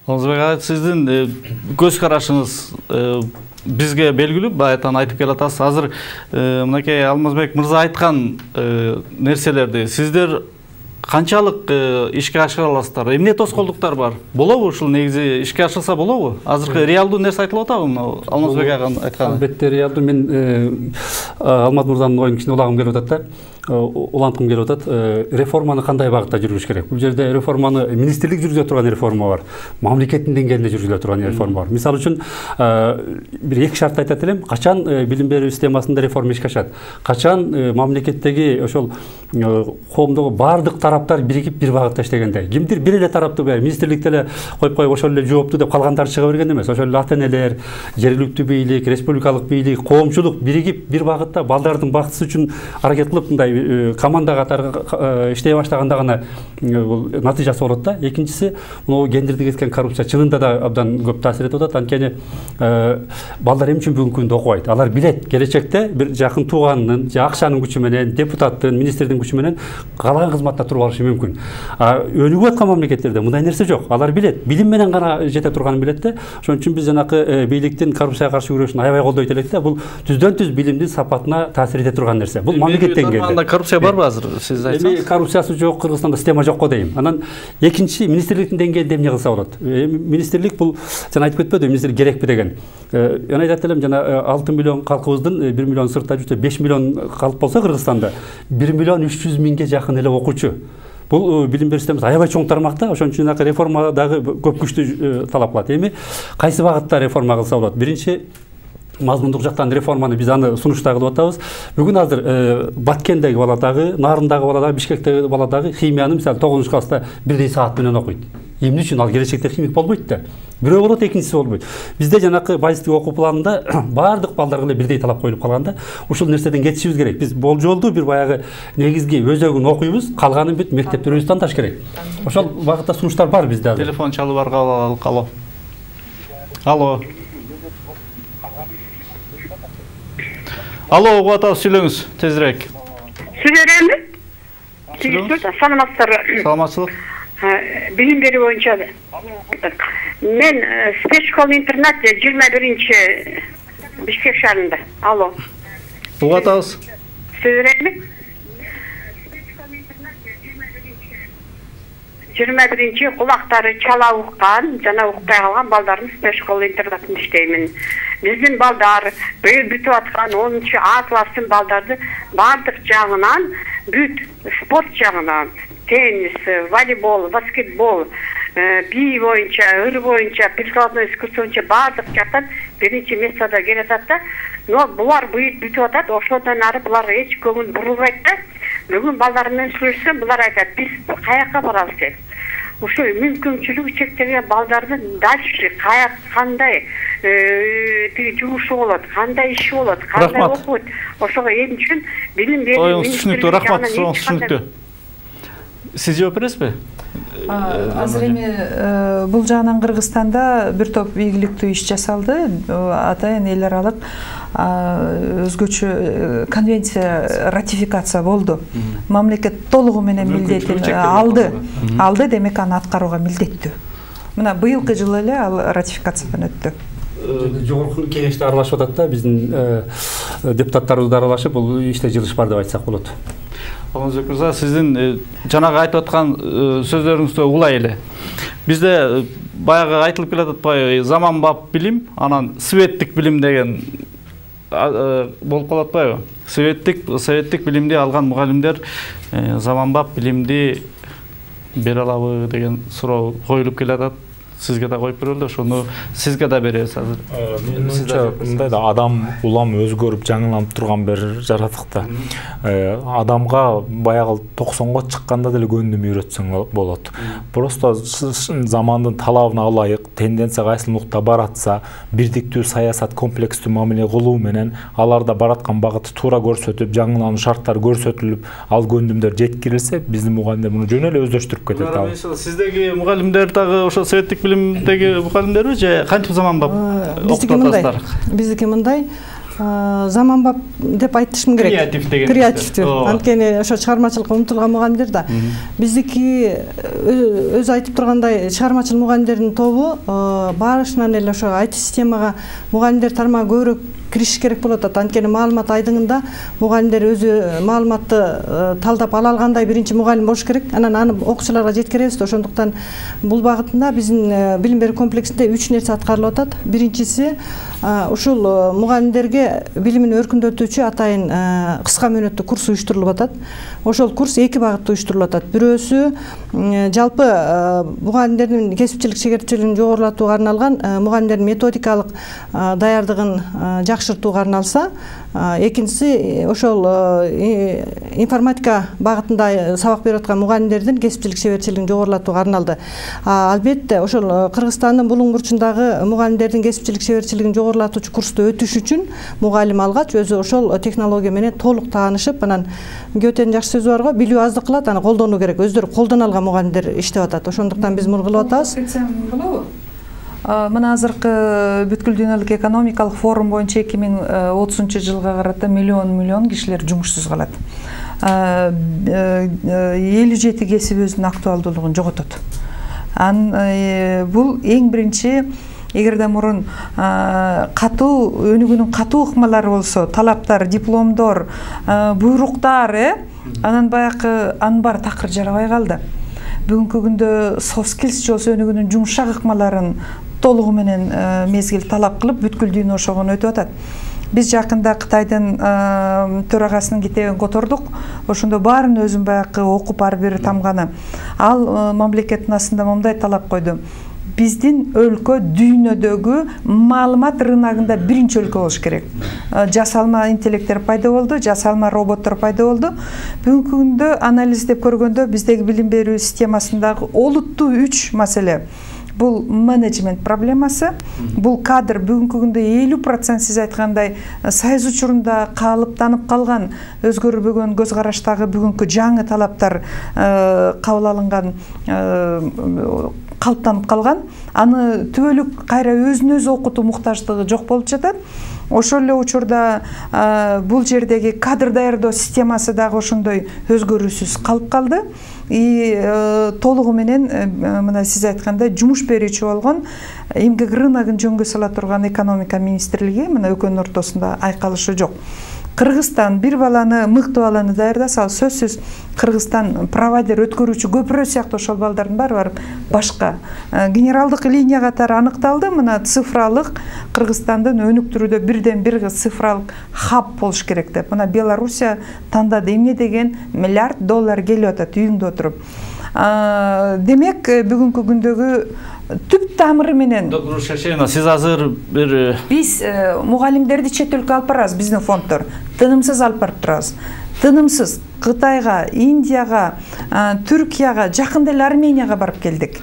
Озбек ага, сиздин көз карашыңыз бизге белгилүү, баягы айтып келатасыз. Азыр мынакей Алмазбек мырза айткан нерселерди сиздер канчалык ишке ашыра аласыздар? Эмне тоскоолдуктар бар? Болобу ушул негизи ишке ашырса болобу? Азыркы реалдуу нерсе айтылып атабы мына Алмазбек ага айткан? Албетте реалдуу. Мен Алмаз мырзанын оюн кичине улагым келип атат да. Уланткым келип атат. Реформаны кандай багытта жүргүзүш керек? Бул жерде реформаны министрлик жүргүзө турган реформа бар, мамлекеттин деңгээлинде жүргүзүлө турган реформа бар. Мисалы үчүн бир эки шарт айтат элем. Качан билим берүү системасында реформа ишке ашат? Качан мамлекеттеги ошол коомдогу баардык тараптар биригип бир багытта иштегенде? Кимдир бир эле тарапты министрликте эле коюп ошол эле жооптуу деп калгандары чыга берген эмес. Ошол эле ата-энелер, жергиликтүү бийлик, республикалык бийлик, коомчулук биригип бир багытта балдардын бактысы үчүн аракет кылып мындай команда катары иштей баштаганда гана бул натыйжасы болот да. Экинчиси, могу гендерди кеткен коррупция чынында да абдан көп таасир этип атат. Анткени балдар эмне үчүн бүгүнкү күндө окубайт? Алар билет, келечекте бир жакын тууганынын же акчанын күчү менен, депутаттын, министрдин күчү менен каалаган кызматта туруп алышы мүмкүн. Өнүгүп аткан мамлекеттерде мындай нерсе жок. Алар билет, билим менен гана жете турганын билет да. Ошон үчүн биз жанакы бийликтин коррупцияга каршы күрөшүн аябай колдойт элек да. Бул түздөн-түз билимдин сапатына таасир эте турган нерсе. Бул мамлекет деңгээлинде. Коррупция барбы азыр сиз айтсаңыз? Коррупциясы жок, Кыргызстанда система жок го дейм. Анан экинчи, министрликтин деңгээлинде эмне кылса болот? Министрлик бул жана айтып кетпеди, министрлик керекпи деген. Жана айтат элем, жана 6 миллион калкыбыздын 1 миллион сыртта жүрсө 5 миллион калып болсо Кыргызстанда 1 миллион 300 миңге жакын эле окуучу. Бул билим берүү системасы аябай чоң тармакта, ошон үчүн реформа дагы көп күчтүү талап кылат. Эми кайсы багытта реформа кылса болот? Биринчи, мазмундук жактан реформаны биз аны сунушта кылып атабыз. Бүгүн азыр Баткендеги бала дагы, Нарындагы бала дагы, Бишкектеги бала дагы химияны мисалы 9 класста бирдей саат менен окуйт. Эмне үчүн? Ал келечекте химик болбойт да. Бирөө болот, экинчиси болбойт. Бизде жанакы базистик окуу планында баардык балдарга эле бирдей талап коюлуп калганда, ушул нерседен кетишибиз керек. Биз болжолдуу бир баягы негизги өзөгүн окуйбуз, калганын бүт мектепте өзү тандаш керек. Ошол багытта сунуштар бар бизде азыр. Телефон чалып бар, кабыл алалы. Алло. Алло, угуп атабыз, сүйлөңүз тезирээк. Сүйлөймүн. Саламатсыздарбы? Саламатчылык. Билим берүү боюнча мен спецшкола интернат 21-Бишкек шаарында. Алло. угуп атабыз. Сөз берелби? 21-ci kulakları çala uqqan, jana uqqay kalgan baldarımız Beşkol internatında işteymin. Bizim baldar bütüp atkan 10-cu A klassın baldardı bardık jağынан, büt sport jağынан, tenis, voleybol, basketbol, bi boyunca, ır boyunca, прикладной искусство боюнча бардык жактан биринчи месtada келатат да. Но булар бүтүп атат, ошодон ары булар эч көңүл бурулбайт да. Бүгүн балдар менен сүйлөшсөм, булар айтат, биз каяка барабыз деп. Ошо мүмкүнчүлүгү чектелген балдардын дальше кандай жумушу болот, кандай иши болот, кандай окуйт. Ошого эң үчүн билим берүү түшүнүктүү, рахмат, түшүнүктүү. Сиз жооп бересизби? Азыр эми бул жагынан Кыргызстанда бир топ ийгиликтүү иш жасалды. Атайын эл аралык өзгөчө конвенция ратификация болду. Мамлекет толугу менен милдетин алды, демек аны аткарууга милдеттүү. Мына быйылкы жылы эле ал ратификациядан өттү. Жогорку кеңеште аралашып атат да, биздин депутаттарыбыз да аралашып, бул иште жылыш бар деп айтсак болот. Алмазбек мырза, сиздин жанагы айтып аткан сөздөрүңүздө улай эле. Бизде баягы айтылып келатпайбы, заманбап билим, анан светтик билим деген болуп калат атпайбы? Советтик билимди алган мугалимдер заманбап билимди бере алабы деген суроо коюлуп келатат. Сизге да коюп берелди, ошону сизге да беребиз азыр. Менимче мындай да адам улам өзгөрүп, жаңыланып турган бир жаратык да. Адамга баягы 90го чыкканда деле көндүм үйрөтсөң болот. Просто замандын талабына ылайык тенденция кайсыл нукта баратса, бирдиктүү саясат, комплекстүү мамиле кылуу менен аларда бараткан багыты туура көрсөтүп, жаңылануу шарттары көрсөтүлүп, ал көндүмдөр жеткирилсе, биздин мугалимдер муну жөн эле өздөштүрүп кетет. Сиздеги мугалимдер дагы ошо советтик билимдеги мугалимдерби же кантип заманбап окутуп атасыздар? Биздики мындай заманбап деп айтышым керек. Креатив деген. Креативдүү. Анткени ошо чыгармачылыкка умтулган мугалимдер да. Биздики өзү айтып тургандай чыгармачыл мугалимдердин тобу баарышынан эле ошо IT системага мугалимдер тармагы көбүрөөк кириш керек болот. Анткени маалымат айдыңында мугалимдер өзү маалыматты талдап ала алгандай биринчи мугалим болуш керек. Анан аны окуучуларга жеткиребиз. Ошондуктан бул багытында биздин билим берүү комплексинде 3 нерсе аткарылып атат. Биринчиси ушул мугалимдерге билимин өркүндөтүүчү атайын кыска мөөнөттүү курс уюштурулуп атат. Ошол курс 2 багытта уюштурулуп атат. Бирөөсү жалпы мугалимдердин кесипчилик шеберчилигин жогорулатууга арналган мугалимдердин методикалык даярдыгын жакшыртууга арналса, экинчиси ошол информатика багытында сабак берип аткан мугалимдердин кесипчилик шеберчилигин жогорулатууга арналды. Албетте ошол Кыргызстандын булуң бурчундагы мугалимдердин кесипчилик шеберчилигин жогорулатуучу курсту өтүш үчүн мугалим алгач өзү ошол технология менен толук таанышып, анан Гётенин жакшы сөзү бар го, билүү аздык кылат, аны колдонуу керек. Өздөрү колдоно алган мугалимдер иштеп атат. Ошондуктан биз муну кылып атабыз. Болобу? Мына азыркы бүткүл дүйнөлүк экономикалык форум боюнча 2030-жылга карата миллион кишилер жумушсуз калат. 57 кесип өзүнүн актуалдуулугун жоготот. Бул эң биринчи, эгерде мурун катуу өнүгүүнүн катуу ыкмалары болсо, талаптар, дипломдор, буйруктар, анан баягы анын баары такыр жарабай калды. Бүгүнкү күндө soft skills болсо өнүгүүнүн жумшак ыкмаларын толугу менен мезгил талап кылып, бүткүл дүйнө ошогону өтүп атат. Биз жакында Кытайдын төрагасынын китебин котордук. Ошондо баарын өзүм баягы окуп ар бири тамганы. Ал мамлекеттин астында мындай талап койду. Биздин өлкө дүйнөдөгү маалымат рыногунда биринчи өлкө болуш керек. Жасалма интеллекттер пайда болду, жасалма роботтор пайда болду. Бүгүнкү күндө анализдеп көргөндө биздеги билим берүү системасындагы олуттуу 3 маселе. Бул менеджмент проблемасы, бул кадр. Бүгүнкү күндө 50% сиз айткандай сайыз учурунда калыптанып калган, өзгөрбөгөн көз караштагы бүгүнкү жаңы талаптар кабыл алынган, калыптанып калган, аны түбөлүк кайра өзүн өзү окутуу муктаждыгы жок болуп жатат. Ошол эле учурда бул жердеги кадр даярдоо системасы дагы ошондой өзгөрүүсүз калып калды. Толугу менен мына сиз айткандай жумуш берүүчү болгон эмгек рыногун жөнгө сала турган экономика министрлиги мына экөөнүн ортосунда айкалышы жок. Кыргызстан бир баланы, мыкты баланы даярдаса, ал сөзсүз Кыргызстан провайдер өткөрүүчү көпүрө сыяктуу ошол балдардын баары барып башка генералдык линия катары аныкталды. Мына цифралык Кыргызстандын өнүктүрүүдө бирден бир цифралык хаб болуш керек деп. Мына Белоруссия тандады. Эмне деген $1 миллиард келип атат үйүңдө отуруп. Демек бүгүнкү күндөгү түп тамыры менен доктор Шашена, сиз азыр бир биз мугалимдерди чет өлкөгө алып барабыз, биздин фонддор тынымсыз алып барып турабыз. Тынымсыз Кытайга, Индияга, Түркияга, жакында эле Арменияга барып келдик.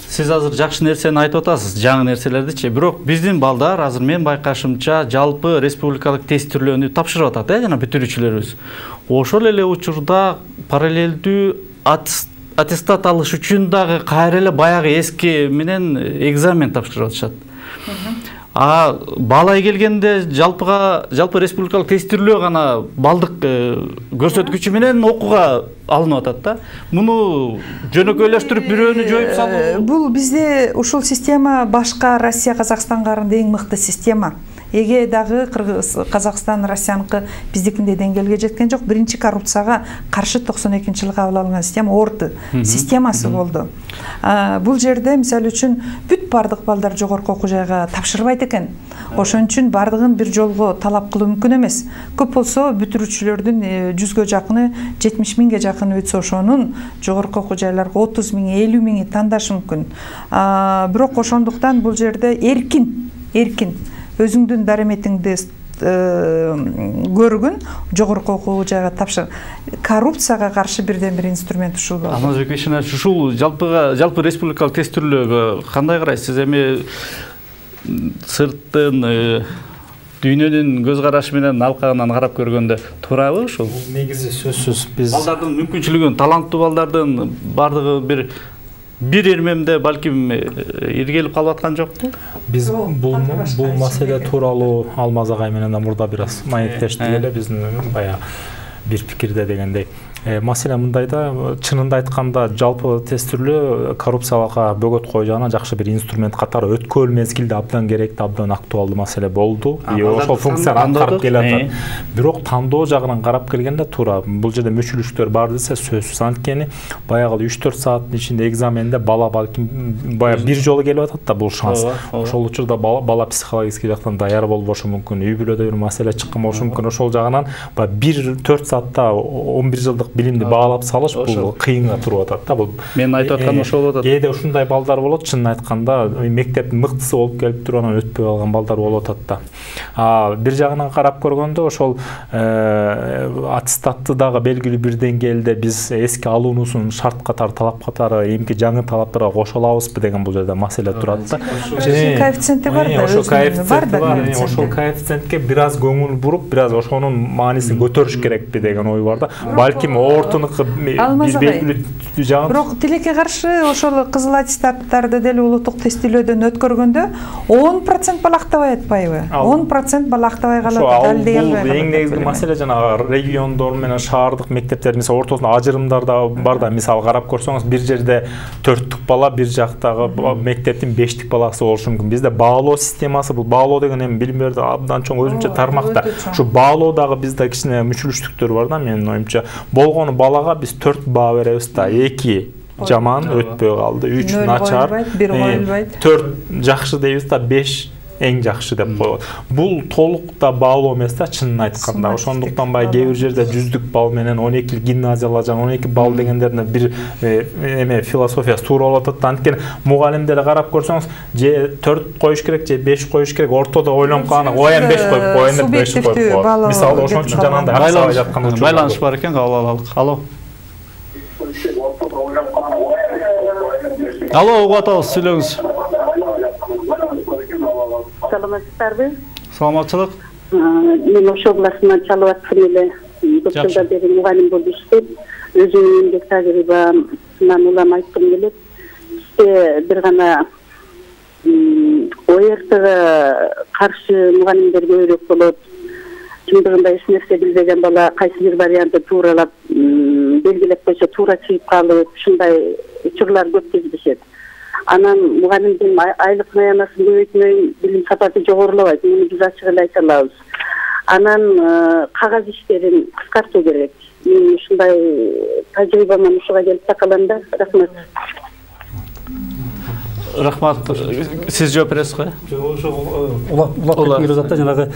Сиз азыр жакшы нерсени айтып атасыз, жаңы нерселердичи. Бирок биздин балдар азыр мен байкашымча жалпы республикалык тест түрлөрүнү тапшырып атат, жана бүтүрүүчүлөрүбүз. Ошол эле учурда параллелдүү аттестат алыш үчүн дагы кайра эле баягы эски менен экзамен тапшырып атышат. Балай келгенде жалпы республикалык тестирлөө гана балдык көрсөткүчү менен окууга алынып атат да. Муну жөнөкөйлөштүрүп бирөөнү жоюп салуу. Бул бизде ушул система башка Россия, Казакстанга караганда эң мыкты система. Эге дагы Казакстан, Россияныкы биздикиндей деңгээлге жеткен жок. Биринчи коррупцияга каршы 92-жылы кабыл алынган система орты системасы болду. Бул жерде мисалы үчүн бүт бардык балдар жогорку окуу жайга тапшырбайт экен. Ошон үчүн бардыгын бир жолго талап кылуу мүмкүн эмес. Көп болсо бүтүрүүчүлөрдүн 100гө жакыны, 70 миңге жакыны өтсө ошонун жогорку окуу жайларга 30 миң, 50 миңи тандашы мүмкүн. Бирок ошондуктан бул жерде эркин өзүңдүн дареметиңди көргүн жогорку окуу жайга тапшыр. Коррупцияга каршы бирден бир инструмент ушул болду. Алмазбек Бейшенович, ушул жалпы республикалык тест түрлөрүгө кандай карайсыз? Эми сырттын дүйнөнүн көз карашы менен алкагынан карап көргөндө туурабы ушул? Негизи сөзсүз биз балдардын мүмкүнчүлүгүн, таланттуу балдардын бардыгы бир ирмемде балким иргелип калып аткан жокпу? Биз бул маселе тууралуу Алмаз агай менен мурда бир аз маектештик эле, биздин баягы бир пикирде дегендей. Маселе мындайда, чынында айтканда жалпы тест түрлөө коррупцияга бөгөт койган жакшы бир инструмент катары өткөн мезгилде абдан керектүү, абдан актуалдуу маселе болду. Ошол функцияны аткарып келатат. Бирок тандоо жагынан карап келгенде туура бул жерде мүчүлүштөр бар десе сөзсүз. Анткени баягы 3-4 сааттын ичинде экзаменде бала балким баягы бир жолу келип атат да, бул шанс. Ошол учурда бала психологический жактан даяр болбошу мүмкүн, үй бүлөдө бир маселе чыккан болушу мүмкүн. Ошол жагынан 1-4 саатта 11 жылдык билимди баалап салыш бул кыйынга туруп атат да. Бул мен айтып атканым ошол болот. Кээде ушундай балдар болот, чынын айтканда мектептин мыктысы болуп келип туруп анан өтпөй калган балдар болуп атат да. Бир жагынан карап көргөндө ошол аттестатты дагы белгилүү бир деңгээлде биз эски алуунуусун шарт катары, талап катары эмки жаңы талаптарга кошо алабызбы деген бул жерде маселе турат да. Коэффициенти бар да, ошол коэффициентке бир аз көңүл буруп, бир аз ошонун маанисин көтөрүш керекпи деген ой бар да. Балким ортунукы белгилүү жагын. Бирок тилекке каршы ошол кызыл аттестаттарды деле улуттук тестилөөдөн өткөргөндө 10% бала актабай атпайбы? 10% бала актабай калат, далилдей албай калат. Эң негизги маселе жанагы региондор менен шаардык мектептер мисалы ортосунда ажырымдар да бар да. Мисалы карап көрсөңүз, бир жерде 4түк бала, бир жактагы мектептин 5тик баласы болушу мүмкүн. Бизде баалоо системасы, бул баалоо деген эми билим берүүдө абдан чоң өзүнчө тармакта. Ушу баалоодагы бизде кичине мүчүлүштүктөр бар да, менин оюмча. Болгону балага биз 4 баа беребиз да. 2 жаман өтпөй калды, 3 начар, 4 жакшы дейбиз да, 5 эң жакшы деп коет. Бул толук да баалоо эмес да, чынын айтканда. Ошондуктан кээ бир жерде 100дүк балл менен 12 гимназиялар жана 12 балл дегендерде бир философиясы туура болуп атат. Анткени мугалимдерди карап көрсөңүз, же 4 коюш керек, же 5 коюш керек, ортодо ойлонуп калган, коеюн 5 коюп коеюн деп 5 коюп коет. Мисалы ошон үчүн жанагындай аксабай жаткан учур. Байланыш бар экен, кабыл алалык. Алло, угуп атабыз, сүйлөңүз. Саламатсыздарбы? Саламатчылык. Мен Ош областынан чалып аттым эле. 4 жылдан бери мугалим болуп иштеп, өзүмдүн эмгек тажрыйбамдан улам айткым келет. Бизде бир гана ОРТга каршы мугалимдер көбүрөөк болот. Чындыгында эч нерсе билбеген бала кайсы бир вариантты тууралап белгилеп койсо туура чыгып калып, ушундай учурлар көп кездешет. Анан мугалимдин айлык аянасын көбөйтмөй, билим сапаты жогорулабайт. Муну биз ачык эле айта алабыз. анан кагаз иштерин кыскартуу керек. Мен ушундай тажрыйбаман ушуга келип такалам да. Рахмат. Рахмат. Сиз жооп бересиз го? Улат Мирзатта жанагы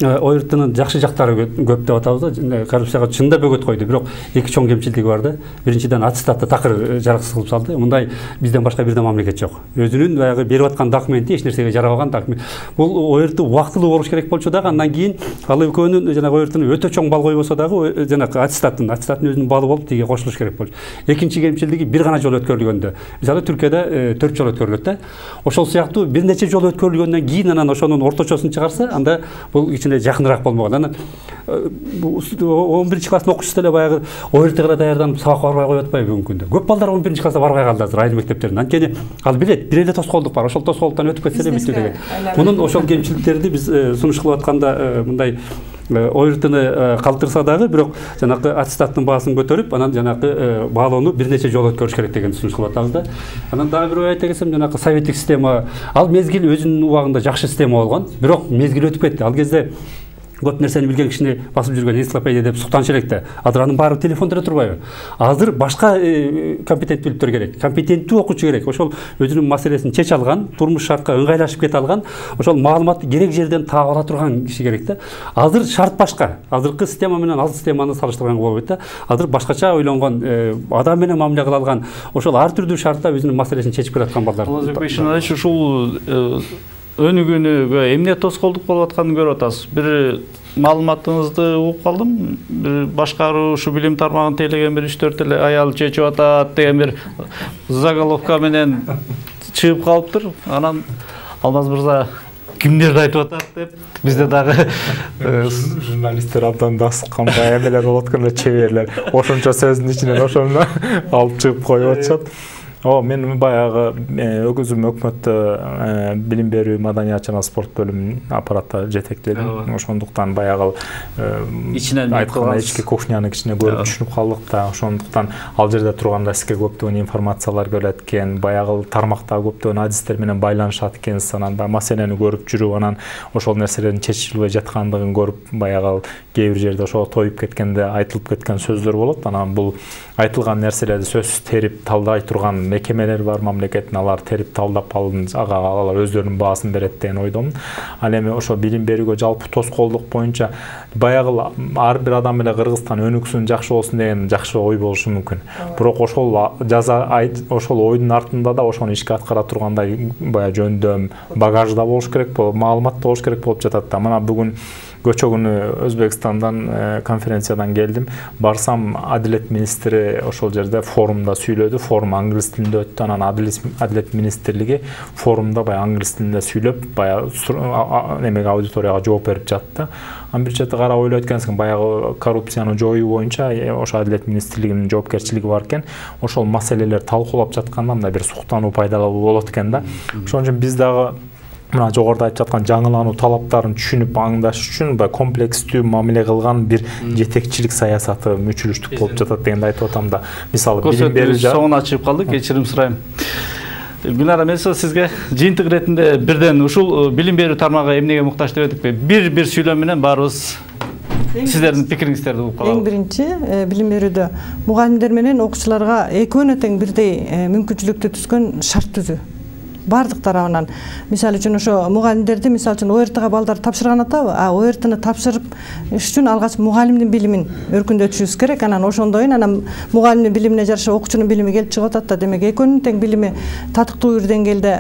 ОРТнын жакшы жактары көп деп атабыз да. Коррупцияга чында бөгөт койду, бирок эки чоң кемчилдиги бар да. Биринчиден аттестатты такыр жараксыз кылып салды. Мындай бизден башка бир да мамлекет жок. Өзүнүн баягы берип аткан документи эч нерсеге жарабаган документ. Бул ОРТ убактылуу болуш керек болчу дагы, андан кийин ал экөөнүн жанагы ОРТнын өтө чоң бал койбосо дагы жанагы аттестаттын өзүнүн балы болуп тиге кошулуш керек болчу. Экинчи кемчилдиги бир гана жолу өткөрүлгөндө. Мисалы Түркияда 4 жолу өткөрүлөт да. Ошол сыяктуу бир нече жолу өткөрүлгөндөн кийин анан ошонун орточосун чыгарса, анда бул жакыныраак болмогон. Анан 11 класстын окуучусу деле баягы ОРТга даярданып сабак барбай коюп атпайбы бүгүнкү күндө. Көп балдар 11 класста барбай калды азыр айыл мектептерине. Анткени ал билет, бир эле тоскоолдук бар. Ошол тоскоолдуктан өтүп кетсе эле бүттү деген. Мунун ошол кемчиликтерди биз сунуш кылып атканда мындай ОРТны калтырса дагы, бирок жанагы аттестаттын баасын көтөрүп, анан жанагы баалоону бир нече жолу өткөрүш керек деген сунуш кылып атабыз да. Анан дагы бир айта кетсем, жанагы советтик система, ал мезгил өзүнүн убагында жакшы система болгон, бирок мезгил өтүп кетти. Ал кезде көп нерсени билген кишини басып жүргөн энциклопедия деп суктанчу элек да. Азыр анын баары телефондо эле турбайбы? Азыр башка компетенттүүлүктөр керек. Компетенттүү окуучу керек. Ошол өзүнүн маселесин чече алган, турмуш шартка ыңгайлашып кете алган, ошол маалыматты керек жерден таап ала турган киши керек да. Азыр шарт башка. Азыркы система менен ал системаны салыштырганга болбойт да. Азыр башкача ойлонгон, адам менен мамиле кыла алган, ошол ар түрдүү шартта өзүнүн маселесин чечип келаткан балдар. Ушул өнүгүүнүгө эмне тоскоолдук болуп атканын көрүп атасыз. Бир маалыматыңызды угуп калдым. Бир башкаруу ушу билим тармагын тейлеген бир 3-4 эле аял чечип атат деген бир заголовка менен чыгып калыптыр. Анан Алмаз мырза кимдерди айтып атат деп бизде дагы журналисттер абдан дасыккан эмелер болуп аткан эле, чеберлер. Ошончо сөздүн ичинен ошону алып чыгып коюп атышат. Мен баягы өзүм өкмөттө билим берүү, маданият жана спорт бөлүмүнүн аппаратта жетектедим. Ошондуктан баягы ичинен айтканда ички кухняны кичине көрүп түшүнүп калдык да. Ошондуктан ал жерде турганда сизге көптөгөн информациялар келет экен, баягы тармакта көптөгөн адистер менен байланышат экенсиз, анан маселени көрүп жүрүп, анан ошол нерселердин чечилбей жаткандыгын көрүп, баягы кээ бир жерде ошол тоюп кеткенде айтылып кеткен сөздөр болот. Анан бул айтылган нерселерди сөзсүз терип талдай турган мекемелер бар мамлекеттин, алар терип талдап алар өздөрүнүн баасын берет деген ойдомун. Ал эми ошо билим берүүгө жалпы тоскоолдук боюнча баягы ар бир адам эле Кыргызстан өнүксүн, жакшы болсун деген жакшы ой болушу мүмкүн. Бирок ошол ошол ойдун артында да ошону ишке аткара тургандай баягы жөндөм, багажда болуш керек, маалымат болуш керек болуп жатат да. Мына бүгүн көчө күнү Өзбекстандан конференциядан келдим. Барсам, адилет министри ошол жерде форумда сүйлөдү. Форум англис тилинде өттү. Анан адилет министрлиги форумда баягы англис тилинде сүйлөп, баягы немеге аудиторияга жооп берип жатты. Анан бир чети карап ойлойт экенсиң, баягы коррупцияны жоюу боюнча ошо адилет министрлигинин жоопкерчилиги бар экен. Ошол маселелер талкуулап жатканда мындай бир суктануу пайда болот экен да. Ошон үчүн биз дагы мына жогоруда айтып жаткан жаңылануу талаптарын түшүнүп аңдаш үчүн комплекстүү мамиле кылган бир жетекчилик саясаты мүчүлүштүк болуп жатат дегенди айтып атам да. Мисалы билим берүү соңуна чыгып калды, кечирим сурайм. Гүлнара, мен сизге жыйынтык иретинде бирден ушул билим берүү тармагы эмнеге муктаж деп эдикпи? Бир сүйлөм менен баарыбыз сиздердин пикириңиздерди угуп калалы. Эң биринчи билим берүүдө мугалимдер менен окуучуларга экөөнө тең бирдей мүмкүнчүлүктү түзгөн шарт түзүү. Бардык тарабынан. Мисалы үчүн ошо мугалимдерди мисалы үчүн ОРТга балдар тапшырган атабы? ОРТны тапшырып үчүн алгач мугалимдин билимин өркүндөтүшүбүз керек. Анан ошондойун анан мугалимдин билимине жараша окуучунун билими келип чыгып атат да. Демек экөөнүн тең билими татыктуу бир деңгээлде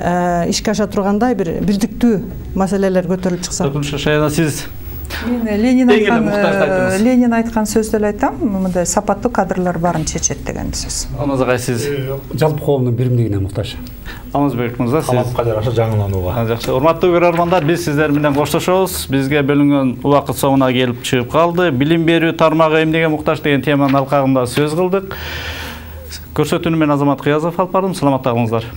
ишке аша тургандай бир бирдиктүү маселелер көтөрүлүп чыкса. Шаяна, сиз Ленин айткан сөздү эле айтам, мындай сапаттуу кадрлар баарын чечет деген сөз. Алмазагай, сиз жалпы коомдун биримдигине муктаж. Алмазбек мырза, сиз талапка жараша жаңыланууга. Жакшы. Урматтуу көрөрмандар, биз сиздер менен коштошобуз. Бизге бөлүнгөн убакыт соңуна келип чыгып калды. Билим берүү тармагы эмнеге муктаж деген теманын алкагында сөз кылдык. Көрсөтүүнү мен Азамат Кыязов алып бардым. Саламатта калыңыздар.